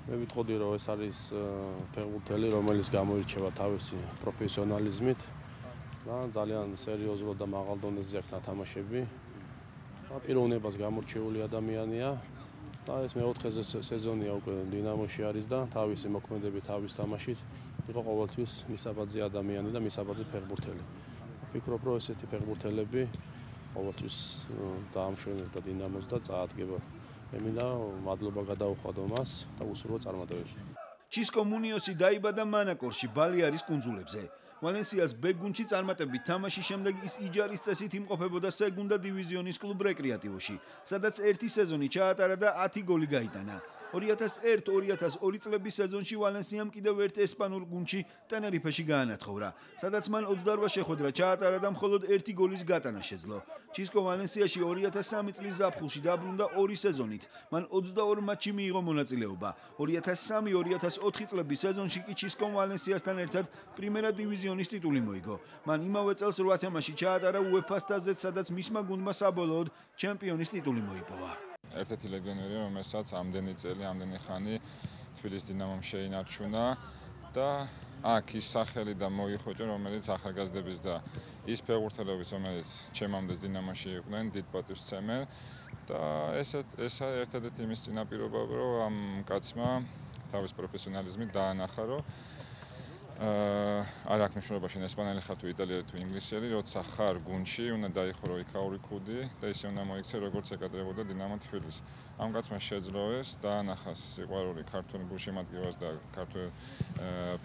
მე ვიტყოდი, რომ ეს არის ფეხბურთელი, რომელიც გამოირჩევა თავისი პროფესიონალიზმით და ძალიან სერიოზულად და მაღალ დონეზე აქვს ნათამაშები. პიროვნებას გამორჩეული ადამიანია. და ეს მეოთხე სეზონია უკვე დინამოში არის და თავისი მოქმედებით, თავის თამაშით იყო ყოველთვის მისაბაძე ადამიანი და მისაბაძე ფეხბურთელი. ვფიქრობ, რომ ესეთი ფეხბურთელები ყოველთვის დაამშვენებდა დინამოს და წაადგება. მე მინდა მადლობა გადაუხადო მას და უსურვო წარმატებები. ჭისკომუნიოსი დაიბადა მანაკორში, ბალეარის კუნძულებზე. ვალენსიას ბ გუნდში წარმატებით თამაშის შემდეგ ის იჯარის წესით იმყოფებოდა სეგუნდა დივიზიონის კლუბ რეკრეატივოში, სადაც ერთი სეზონი ჩაატარა და ათი გოლი გაიტანა. ორი ათას ერთი ორი ათას ორი წლების სეზონში ვალენსიამ კიდევ ერთ ესპანურ გუნდში ტენერიფეში გაანათხოვრა, სადაც მან ოცდაორ შეხვედრა ჩაატარა და მხოლოდ ერთი გოლის გატანა შეძლო. ჭისკო ვალენსიაში ორი ათას სამი წლის ზაფხულში დაბრუნდა ორი სეზონით. მან ოცდაორ მატჩში მიიღო მონაწილეობა. ორი ათას სამი ორი ათას ოთხი წლების სეზონში კი ჭისკომ ვალენსიასთან ერთად პრიმერა დივიზიონის ტიტული მოიგო. მან იმავე წელს რვა თამაში ჩაატარა უეფა-ს თასზეც, სადაც მისმა გუნდმა საბოლოოდ ჩემპიონის ტიტული მოიპოვა. ერთ-ერთი ლეგიონერია, რომელსაც ამდენი წელი, ამდენი ხანი თბილისის დინამომ შეინარჩუნა და აქ ის სახელი და მოიხოჭა, რომელიც ახალგაზრდების და ის ფეხბურთელების, რომელიც ჩემამდე დინამოში იყვნენ, დიდ პატივს სცემენ და ესა ესა ერთადერთი იმის წინაპირობა, რომ ამ კაცმა თავის პროფესიონალიზმით დაანახა, რომ აა არ აქვს მნიშვნელობა შენ ესპანელი ხარ თუ იტალიელი თუ ინგლისელი, როცა ხარ გუნდში, უნდა დაიხურო იქაური ქუდი და ისე უნდა მოიქცე, როგორც ეკადრებოდა დინამო თბილისი. ამ კაცმა შეძლო ეს, დაანახა სიყვარული ქართული გულშემატკივარს და ქართულ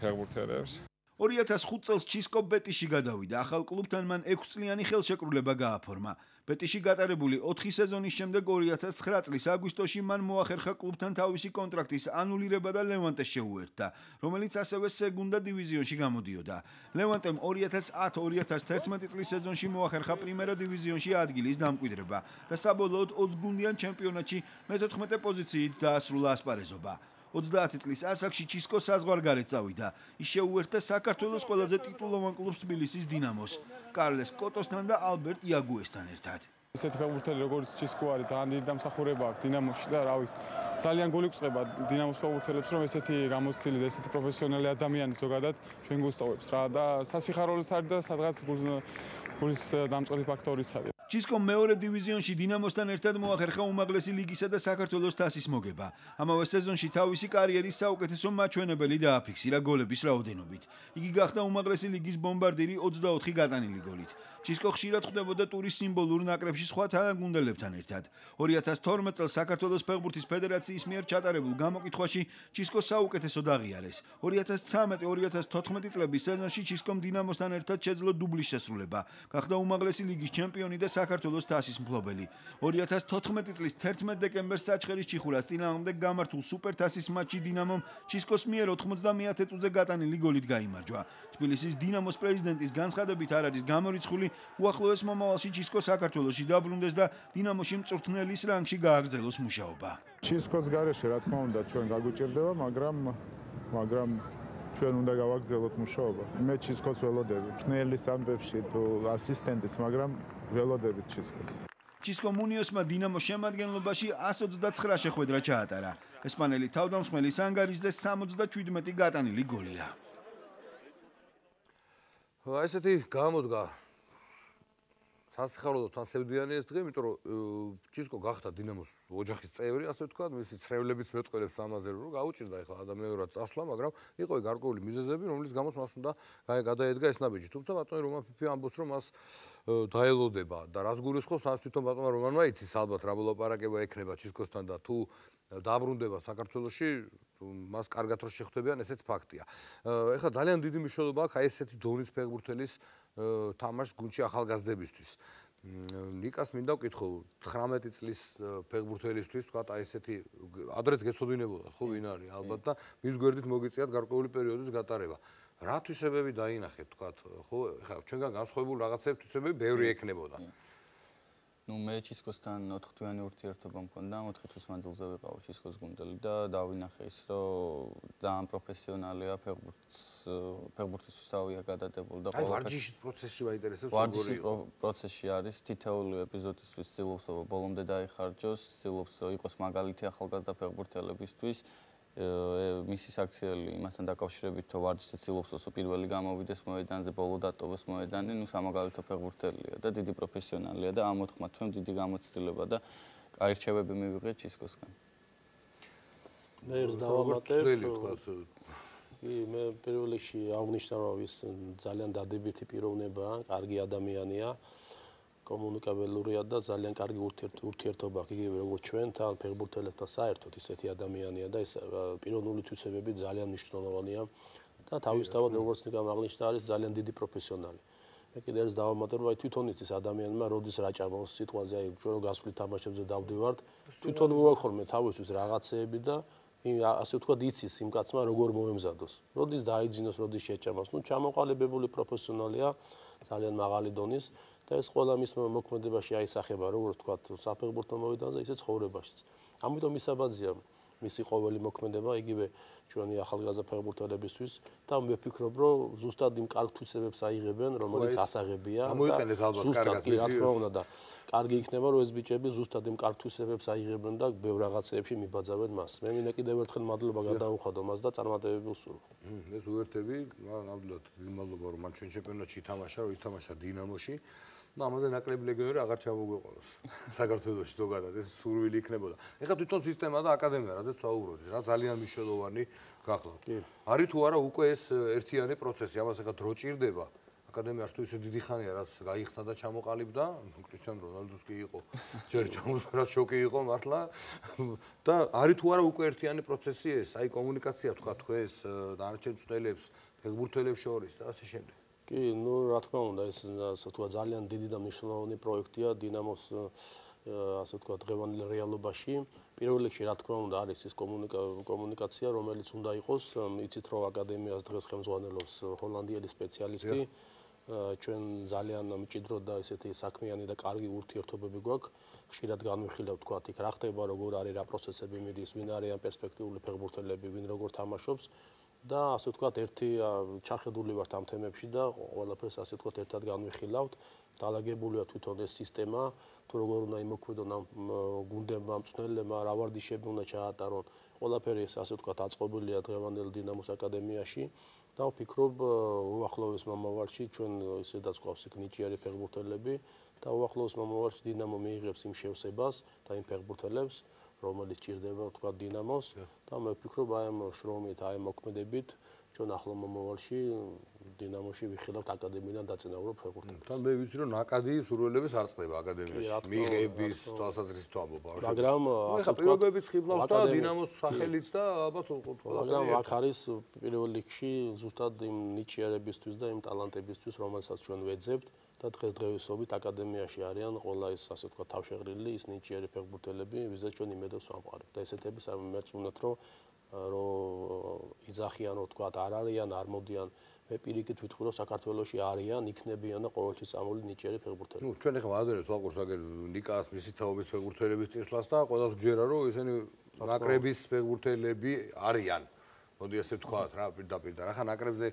ფეხბურთელებს. ორი ათას ხუთ წელს ჭისკო ბეტიში გადავიდა. ახალ კლუბთან მან ექვსწლიანი ხელშეკრულება გააფორმა. ბეტიში გატარებული ოთხი სეზონის შემდეგ ორი ათას ცხრა წლის აგვისტოში მან მოახერხა კლუბთან თავისი კონტრაქტის ანულირება და ლევანტეს შეუერთდა, რომელიც ასევე სეგუნდა დივიზიონში გამოდიოდა. ლევანტემ ორი ათას ათი ორი ათას თერთმეტი წლის სეზონში მოახერხა პრიმერა დივიზიონში ადგილის დამკვიდრება და საბოლოოდ ოცგუნდიან ჩემპიონატში მეთოთხმეტე პოზიციით დაასრულა ასპარეზობა. ოცდაათი წლის ასაკში ჭისკო საზღვარგარეთ წავიდა. ის შეუერთდა საქართველოს ყველაზე ტიტულოვან კლუბს თბილისის დინამოს, კარლეს კოტოსთან და ალბერტ იაგუესთან ერთად. ესეთი ფეხბურთელი როგორც ჭისკო არის, ძალიან დიდი დამსახურება აქვს დინამოში და რა ვიცი, ძალიან გული გწყდება დინამოს ფეხბურთელებს, რომ ესეთი გამოცდილი და ესეთი პროფესიონალი ადამიანი ზოგადად ჩვენ გუსტოვებს რა და სასიხარულოც არის და სადღაც გულის დამწყები ფაქტორიც არის. ჭისკომ მეორე დივიზიონში დინამოსთან ერთად მოახერხა უმაღლესი ლიგისა და საქართველოს თასის მოგება. ამავე სეზონში თავისი კარიერის საუკეთესო მაჩვენებელი დააფიქსირა გოლების რაოდენობით. იგი გახდა უმაღლესი ლიგის ბომბარდირი ოცდაოთხი გატანილი გოლით. ჭისკო ხშირად ხვდებოდა ტურის სიმბოლურ ნაკრებში სხვა თანაგუნდელებთან ერთად. ორი ათას თორმეტ წელს საქართველოს ფეხბურთის ფედერაციის მიერ ჩატარებულ გამოკითხვაში ჭისკო საუკეთესოდ აღიარეს. ორი ათას ცხრამეტი ორი ათას თოთხმეტი წლების სეზონში ჭისკომ დინამოსთან ერთად შეძლო დუბლის შესრულება. გახდა უმაღლესი ლიგის ჩემპიონი და საქართველოს თასის მფლობელი. ორი ათას თოთხმეტი წლის თერთმეტ დეკემბერს საჩხერის ჭიხურას წინააღმდეგ გამართულ სუპერთასის მატჩში დინამომ ჭისკოს მიერ ოთხმოცდამეათე წუთზე გატანილი გოლით გაიმარჯვა. თბილისის დინამოს პრეზიდენტის განცხადებით არ არის გამორიცხული, უახლოეს მომავალში ჭისკო საქართველოში დაბრუნდეს და დინამოში მწვრთნელის რანგში გააგრძელოს მუშაობა. ჭისკოს გარეშე რა თქმა უნდა ჩვენ გაგვიჭირდება, მაგრამ მაგრამ ჩვენ უნდა გავაგრძელოთ მუშაობა. მე ჭისკოს ველოდები. მწვრთნელის ამბებში თუ ასისტენტის, მაგრამ ველოდებით ჭისკოს. ჭისკომუნიოსმა დინამოს შემადგენლობაში ასი ოცდაცხრა შეხვედრა ჩაატარა. ესპანელი თავდამსხმელი სანგარიშზე სამოცდაჩვიდმეტი გატანილი გოლია. ესეთი გამოდგა სასიხარულოდ თან სევდიანი ეს დღე, იმიტომ რომ ჭისკო გახდა დინამოს ოჯახის წევრი, ასე ვთქვათ, მისი ცრევლებიც მეტყველებს ამაზე, რომ გაუჭირდა ახლა ადამიანურად წასვლა, მაგრამ იყო გარკვეული მიზეზები, რომლის გამოც მას უნდა გადაედგა ეს ნაბიჯი. თუმცა ბატონი რომან ფიფი ამბობს, რომ მას დაელოდება და რას გულისხმობს, ამას თვითონ ბატონმა რომანმა იცის ალბათ რა მოლაპარაკება ექნება ჭისკოსთან და თუ დაბრუნდება საქართველოში, მას კარგად რო შეხვდებიან, ესეც ფაქტია. ეხლა ძალიან დიდი მნიშვნელობა აქვს აი ესეთი დონის ფეხბურთელის თამაშს გუნდში ახალგაზრდებისთვის. ნიკას მინდა ვკითხო ცხრამეტი წლის ფეხბურთელისთვის თქვა აი ესეთი ადრეც გეცოდინებოდათ ხო ვინ არის ალბათ და მის გვერდით მოგიწიათ გარკვეული პერიოდის გატარება. რა თვისებები დაინახეთ თქვა ხო ხა ჩვენგან განსხვავებული რაღაცები თვისებები ბევრი ექნებოდა. ნუ მე ჩისკოსთან ოთხ თვიანი ურთიერთობა მქონდა, ოთხ თვის მანძილზე ვიყავ ჩისკოს გუნდელი და დავინახე ის, რომ ძალიან პროფესიონალია ფეხბურთს, ფეხბურთისთვის თავია გადადებული და აი ვარჯიშის პროცესში მაინტერესებს როგორია. ვარჯიშის პროცესში არის თითოეული ეპიზოდისთვის ცდილობს ბოლომდე დაიხარჯოს, ცდილობს იყოს მაგალითი ახალგაზრდა ფეხბურთელებისთვის. მისი საქციელი იმასთან დაკავშირებით თუ ვარჯიშზე ცდილობს ოსო პირველი გამოვიდეს მოედანზე, ბოლო დატოვოს მოედანი, ნუ სამაგალითო ფეხბურთელია და დიდი პროფესიონალია და ამ ოთხმა თვემ დიდი გამოცდილება და კაი რჩევები მივიღეთ ჩისკოსგან. მე ერთ დავამატებ. კი, მე პირველ რიგში აღნიშნა რომ ის ძალიან დადებითი პიროვნებაა, კარგი ადამიანია. კომუნიკაბელურია და ძალიან კარგი ურთიერთობა აქვს იგივე როგორც ჩვენთან ფეხბურთელებთან საერთოდ ისეთი ადამიანია და ეს პიროვნული თვისებები ძალიან მნიშვნელოვანია და თავისთავად როგორც ნიკამ აღნიშნა არის ძალიან დიდი პროფესიონალი. მე კიდევ ერთ დავამატებ რომ აი თვითონ ის ადამიანმა როდის რა ჭამავს სიტყვაზე აი ჩვენ რო გასვლით თამაშებზე დავდივართ თვითონ მოვაქორმე თავისთვის რაღაცეები და ასე ვთქვათ იცის იმ კაცმა როგორ მოემზადოს. როდის დაიძინოს, როდის შეჭამავს. ნუ ჩამოყალიბებული პროფესიონალია ძალიან მაღალი დონის და ეს ყველა მის მოქმედებაში აისახება, როგორც ვთქვათ, საფეხბურთო მოედანზე, ისე ცხოვრებაშიც. ამიტომ ისაბაძია მისი ყოველი მოქმედება იგივე ჩვენი ახალგაზრდა ფეხბურთელებისთვის და მე ვფიქრობ, რომ ზუსტად იმ კარგ თვისებებს აიღებენ, რომელიც ასაღებია. გამოიყენეთ ალბათ კარგად მისიოს და კარგი იქნება, რომ ეს ბიჭები ზუსტად იმ კარგ თვისებებს აიღებენ და ბევრ რაღაცეებში მიბაძავენ მას. მე მინდა კიდევ ერთხელ მადლობა გადავუხადო მას და წარმატებები ვსურვო. ეს უერთები, ნამდვილად დიდი მადლობა რომ მან ჩვენ ჩემპიონატში ითამაშა, რომ ითამაშა დინამოში. და ამაზე ნაკლები ლეგიონერი აღარ ჩამოგვეყოლოს საქართველოში ზოგადად ეს სურვილი იქნებოდა. ეხლა თვითონ სისტემა და აკადემია, რაზეც ვაუბრობთ, რა ძალიან მნიშვნელოვანი გახლავთ. არის თუ არა უკვე ეს ერთიანი პროცესი, ამას ეხლა დრო ჭირდება. აკადემიაში თუ ისე დიდი ხანია, რაც გაიხსნა და ჩამოყალიბდა, კრისტიან რონალდოს კი იყო. ჯერ ჩამოყალიბდა, შოკი იყო მართლა. და არის თუ არა უკვე ერთიანი პროცესი ეს, აი კომუნიკაცია თქვა თქვენს დანარჩენ მწვრთნელებს, ფეხბურთელებს შორის და ასე შემდეგ. კი, ნუ რა თქმა უნდა, ეს ასე ვთქვათ ძალიან დიდი და მნიშვნელოვანი პროექტია დინამოს ასე ვთქვათ დღევანდელ რეალობაში. პირველ რიგში რა თქმა უნდა არის ის კომუნიკაცია, რომელიც უნდა იყოს, იცით რომ აკადემიას დღეს ხელმძღვანელობს ჰოლანდიელი სპეციალისტი. ჩვენ ძალიან მჭიდრო და ესეთი საქმიანი და კარგი ურთიერთობები გვაქვს. ხშირად განვიხილავთ თქვათ იქ რა ხდება, როგორ არის რა პროცესები მიდის, ვინ არიან პერსპექტიული ფეხბურთელები, ვინ როგორ თამაშობს. და ასე ვთქვათ ერთი ჩახედული ვართ ამ თემებში და ყველაფერს ასე ვთქვათ ერთად განვიხილავთ. დალაგებულია თვითონ ეს სისტემა, თუ როგორ უნდა იმოქმედონ ამ გუნდებმა, მწვრთნელებმა, რა ვარდიშები უნდა ჩაატარონ. ყველაფერი ეს ასე ვთქვათ აწყობილია დღევანდელ დინამოს აკადემიაში და ვფიქრობ უახლოეს მომავალში ჩვენ ისედაც გვყავს იქ ნიჭიერი ფეხბურთელები და უახლოეს მომავალში დინამო მიიღებს იმ შევსებას და იმ ფეხბურთელებს რომელიც ჭირდება თქვა დინამოს და მე ვფიქრობ აი ამ შრომით, აი ამ მოქმედებით ჩვენ ახლო მომავალში დინამოში ვიხილავთ აკადემიიდან დაწინაურებ ფეხბურთელებს. თან მე ვიცი რომ ნაკადი სურვილების არ წყდება აკადემიაში. მიღების თვალსაზრისით ვამბობ. მაგრამ ასე პირობებიც ხიბლავს და დინამოს სახელიც და ალბათ მაგრამ აქ არის პირველ რიგში ზუსტად იმ ნიჭიერებისთვის და იმ ტალანტებისთვის რომელსაც ჩვენ ვეძებთ. და დღესდღეობით აკადემიაში არიან ყველა ის ასე ვთქვათ თავშეღრილი ის ნიჭიერი ფეხბურთელები, ვიზაც ჩვენ იმედებს ვამყარებთ. და ესეთები მეც უნდათ რომ რომ იძახიან რომ ვთქვათ არ არიან, არ მოდიან. მე პირიქით ვიტყვი რომ საქართველოში არიან, იქნებიან და ყოველთვის წამული ნიჭიერი ფეხბურთელები. ნუ ჩვენ ახლა ვადერეთ ვაყურს აგერ ნიკას მისი თაობის ფეხბურთელების წინსვლას და ყველას გჯერა რომ ესენი ნაკრების ფეხბურთელები არიან. მოდი ასე ვთქვათ რა პირდაპირ და ახლა ნაკრებზე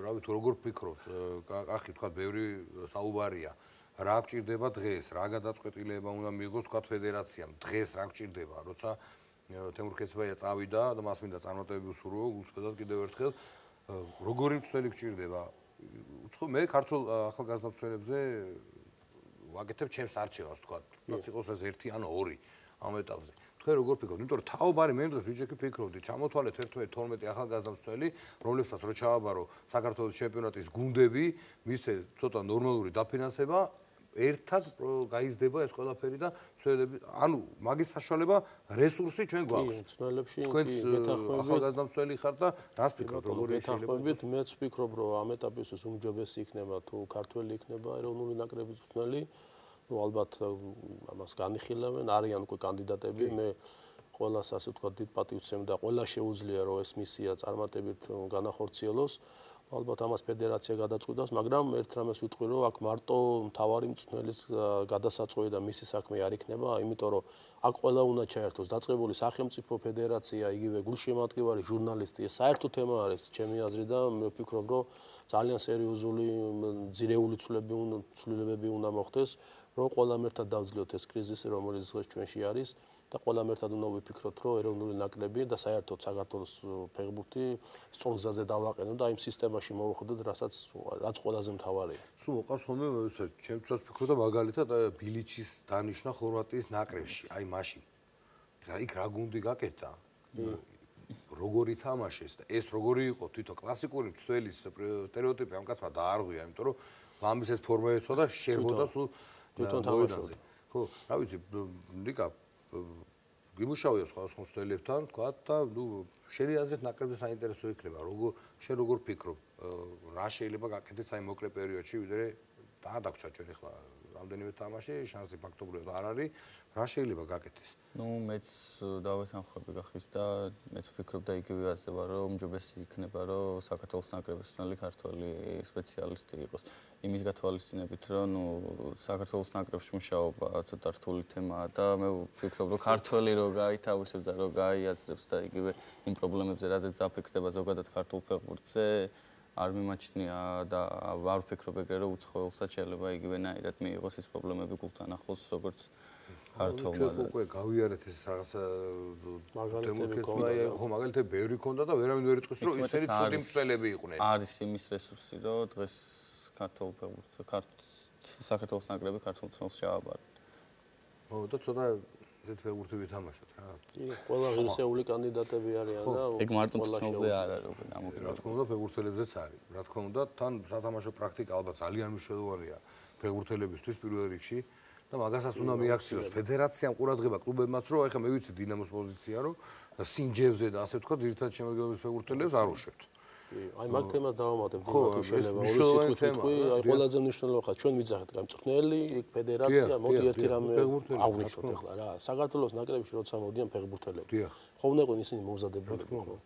რა ვიცი როგორ ფიქრობთ კახი ვთქვათ ბევრი საუბარია რა გჭირდება დღეს რა გადაწყვეტილება უნდა მიიღოს ვთქვათ ფედერაციამ დღეს რა გჭირდება როცა თემურ ქეცბაია წავიდა და მას მინდა წარმატებები უსურვო გულწრფელად კიდევ ერთხელ როგორი მცველი გჭირდება უცხო მე ქართულ ახალგაზრდა მცველებზე ვაკეთებ ჩემს არჩევას ვთქვათ რაც იყოს ეს ერთი ან ორი ამ ეტაპზე თქვენ როგორ ფიქრობთ? იმიტომ რომ თაობარი მე დღეს ვიჯექი ფიქრობდი, ჩამოთვალეთ ერთმანეთს თორმეტი ახალგაზრდა მცველი, რომლებსაც რო ჩააბარო საქართველოს ჩემპიონატის გუნდები, მისე ცოტა ნორმალური დაფინანსება, ერთად გაიზრდება ეს ყველაფერი და მცველები, ანუ მაგის საშუალება რესურსი ჩვენ გვაქვს. მცველებში თქვენც ახალგაზრდა მცველი ხართ და რას ფიქრობთ, როგორი შეიძლება? მეთანხმებით, მეც ვფიქრობ, რომ ამ ეტაპისთვის უმჯობესი იქნება თუ ქართველი იქნება ეროვნული ნაკრების მცველი. ნუ ალბათ ამას განიხილავენ, არიან უკვე კანდიდატები, მე ყველას ასე ვთქვათ დიდ პატივს ვცემ და ყველა შეუძლია რომ ეს მისია წარმატებით განახორციელოს. ალბათ ამას ფედერაცია გადაწყვიტავს, მაგრამ ერთ რამეს ვიტყვი რომ აქ მარტო მთავარი მწვრთნელის გადასაწყვეტი და მისი საქმე არ იქნება, იმიტომ რომ აქ ყველა უნდა ჩაერთოს დაწყებული სახელმწიფო ფედერაცია, იგივე გულშემატკივარი ჟურნალისტი, ეს საერთო თემა არის ჩემი აზრით და მე ვფიქრობ რომ ძალიან სერიოზული ძირეული ცვლილებები უნდა მოხდეს, რომ ყველამ ერთად დავძლოთ ეს კრიზისი, რომელიც დღეს ჩვენში არის. და ყველამ ერთად უნდა ვიფიქროთ, რომ ეროვნული ნაკრები და საერთოდ საქართველოს ფეხბურთი სწორ გზაზე დავაყენოთ და იმ სისტემაში მოვხვდეთ, რასაც რაც ყველაზე მთავარია. სულ მოყავს ხოლმე, ჩემთვისაც ვფიქრობ და მაგალითად ბილიჩის დანიშნა ხორვატიის ნაკრებში, აი მაშინ. იქ რა გუნდი გაკეთდა? როგორი თამაშეს და ეს როგორი იყო თვითონ კლასიკური მცველის სტერეოტიპი ამ კაცმა დაარღვია, იმიტომ რომ ლამბის ეს ფორმა ეცვა და შერბოდა სულ თვითონ თამაშობდა. ხო, რა ვიცი, ნიკა გიმუშავია სხვადასხვა მცველებთან, თქვა და ნუ შენი აზრით ნაკრებზე საინტერესო იქნება, როგორ შენ როგორ ფიქრობ, რა შეიძლება გაკეთდეს აი მოკლე პერიოდში, ვიდრე დაადაგცვა ჩვენ ახლა რამდენიმე თამაში, შანსი ფაქტობრივად არ არის, რა შეიძლება გაკეთდეს? ნუ მეც დავეთანხმები გახის და მეც ვფიქრობ და იგივე ასება, რომ უმჯობესი იქნება, რომ საქართველოს ნაკრების მცველი ქართველი სპეციალისტი იყოს. იმის გათვალისწინებით, რომ ნუ საქართველოს ნაკრებში მუშაობა ცოტა რთული თემაა და მე ვფიქრობ, რომ ქართველი რო გაითავისებს და რო გაიაზრებს და იგივე იმ პრობლემებზე, რაზეც დაფიქრდება ზოგადად ქართულ ფეხბურთზე, არ მიმაჩნია და არ ვფიქრობ ეგრე, რომ უცხოელსაც შეიძლება იგივენაირად მიიღოს ის პრობლემები გულთან ახლოს, როგორც ქართულმა. ჩვენ უკვე გავიარეთ ეს რაღაცა დემოკრატია, ხო, მაგალითად ბევრი ქონდა და ვერავინ ვერ იტყვის, რომ ისინი ცუდი მცველები იყვნენ. არის იმის რესურსი, რომ დღეს ქართულ ფეხბურთს, საქართველოს ნაკრები ქართულ მცველს ჩააბარეთ. ხო, და ცოტა ზეთ ფეხბურთი ვითამაშოთ რა. კი, ყველა ღირსეული კანდიდატები არიან და ეგ მარტო მცველზე არ არის უკვე გამოკიდებული. რა თქმა უნდა, ფეხბურთელებზეც არის. რა თქმა უნდა, თან სათამაშო პრაქტიკა ალბათ ძალიან მნიშვნელოვანია ფეხბურთელებისთვის პირველ რიგში. და მაგასაც უნდა მიაქციოს ფედერაციამ ყურადღება კლუბებმაც, რომ ეხლა მე ვიცი დინამოს პოზიცია, რომ სინჯებზე და ასე ვთქვათ, ძირითადად შემოგვიდგენს ფეხბურთელებს არ უშვებთ. აი მაგ თემას დავამატებ თუ შეიძლება ორი სიტყვით ვიტყვი, აი ყველაზე მნიშვნელოვანი ხა ჩვენ ვიძახეთ გამწვრთნელი, იქ ფედერაცია, მოდი ერთი რამე აღვნიშნოთ ახლა რა. საქართველოს ნაკრებში როცა მოდიან ფეხბურთელები. ხო უნდა იყვნენ ისინი მომზადებული, ხო?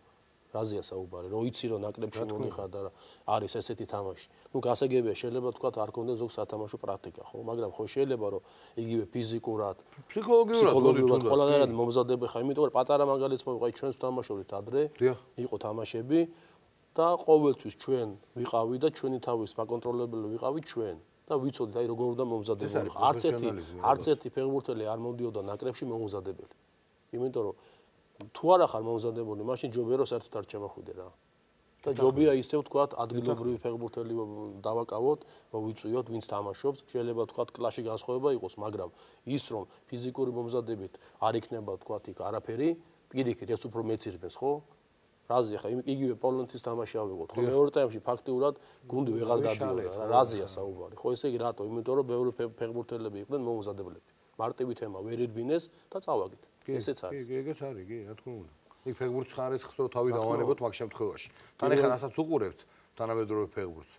რაზეა საუბარი, რომ იცი რომ ნაკრებში მონიხარ და არის ესეთი თამაში. ნუ გასაგებია შეიძლება თქვა არ კონდეს ზოგ სათამაშო პრაქტიკა, ხო, მაგრამ ხო შეიძლება რომ იგივე ფიზიკურად, ფსიქოლოგიურად ყველანაირად მომზადებ ხა, იმიტომ რომ პატარა მაგალითს მოვიყავი ჩვენს თამაშობთ ადრე, იყო თამაშები და ყოველთვის ჩვენ ვიყავი და ჩვენი თავის მაკონტროლებელი ვიყავი ჩვენ და ვიცოდით აი როგორ უნდა მომზადებული. არც ერთი არც ერთი ფეხბურთელი არ მომდიოდა ნაკრებში მომზადებელი. იმიტომ რომ თუ არა ხარ მომზადებული, მაშინ ჯობია რომ საერთოდ არ ჩამოხვიდე რა. და ჯობია ისე ვთქვათ, ადგილობრივი ფეხბურთელი დავაკავოთ, მოვიწვიოთ, ვინც თამაშობს, შეიძლება ვთქვათ კლასში განსხვავება იყოს, მაგრამ ის რომ ფიზიკური მომზადებით არ იქნება ვთქვათ იქ არაფერი, პირიქით ეს უფრო მეცირდეს, ხო? რაზეა ხა იგივე პოლონეთის თამაში ავიღოთ, ხო? მეორე ტაიმში ფაქტიურად გუნდი ვეღარ დადიოდა, რაზეა საუბარი, ხო? ესე იგი რატო? იმიტომ რომ ბევრი ფეხბურთელები იყვნენ მომზადებლები. მარტივი თემა ვერ ირბინეს და წავაგეთ. ესეც არის. კი, ეგეც არის, კი, რა თქმა უნდა. იქ ფეხბურთს ხარისხს რო თავი დავანებოთ მაგ შემთხვევაში. თან ეხლა რასაც უყურებთ თანამედროვე ფეხბურთს.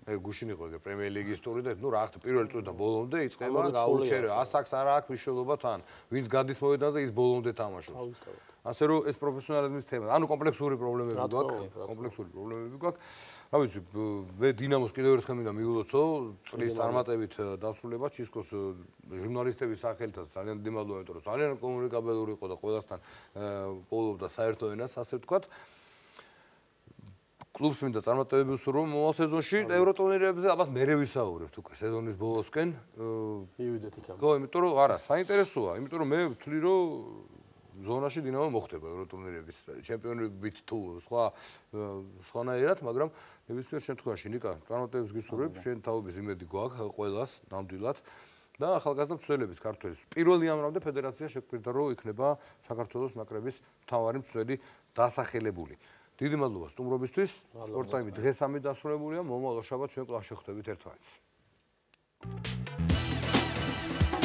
ეგ გუშინ იყო ეგ პრემიერ ლიგის ტური და ნუ რა ხთ პირველი წუთიდან ბოლომდე იწყება გაუჩერე. ასაკს არა აქვს მნიშვნელობა თან. ვინც გადის მოედანზე ის ბოლომდე თამაშობს. ასე რომ ეს პროფესიონალიზმის თემა. ანუ კომპლექსური პრობლემები გვაქვს, კომპლექსური პრობლემები გვაქვს. რა ვიცი, მე დინამოს კიდევ ერთხელ მინდა მიულოცო, წლის წარმატებით დასრულება ჩისკოს ჟურნალისტების სახელითაც ძალიან დიდი მადლობა, იმიტომ რომ ძალიან კომუნიკაბელური იყო და ყველასთან პოულობდა საერთო ენას, ასე ვთქვათ. კლუბს მინდა წარმატებები უსურვო მომავალ სეზონში ევროტურნირებზე, ალბათ მერე ვისაუბრებთ უკვე სეზონის ბოლოსკენ. მივიდეთ იქამდე. ხო, იმიტომ რომ არა, საინტერესოა, იმიტომ რომ მე ვთვლი რომ ზონაში დინამო მოხდება ევროტურნირების ჩემპიონობით თუ სხვა სხვანაირად, მაგრამ ნებისმიერ შემთხვევაში ნიკა წარმატებებს გისურვებ, შენ თაობის იმედი გვაქვს ყველას ნამდვილად და ახალგაზრდა მცველების ქართველის პირველი ამრამდე ფედერაცია შეგვირდა რომ იქნება საქართველოს ნაკრების მთავარი მცველი დასახელებული. დიდი მადლობა სტუმრობისთვის. სპორტსაიმი დღეს ამით დასრულებულია. მომავალ შაბათს ჩვენ კლასში ხვდებით ერთმანეთს. გასვლა.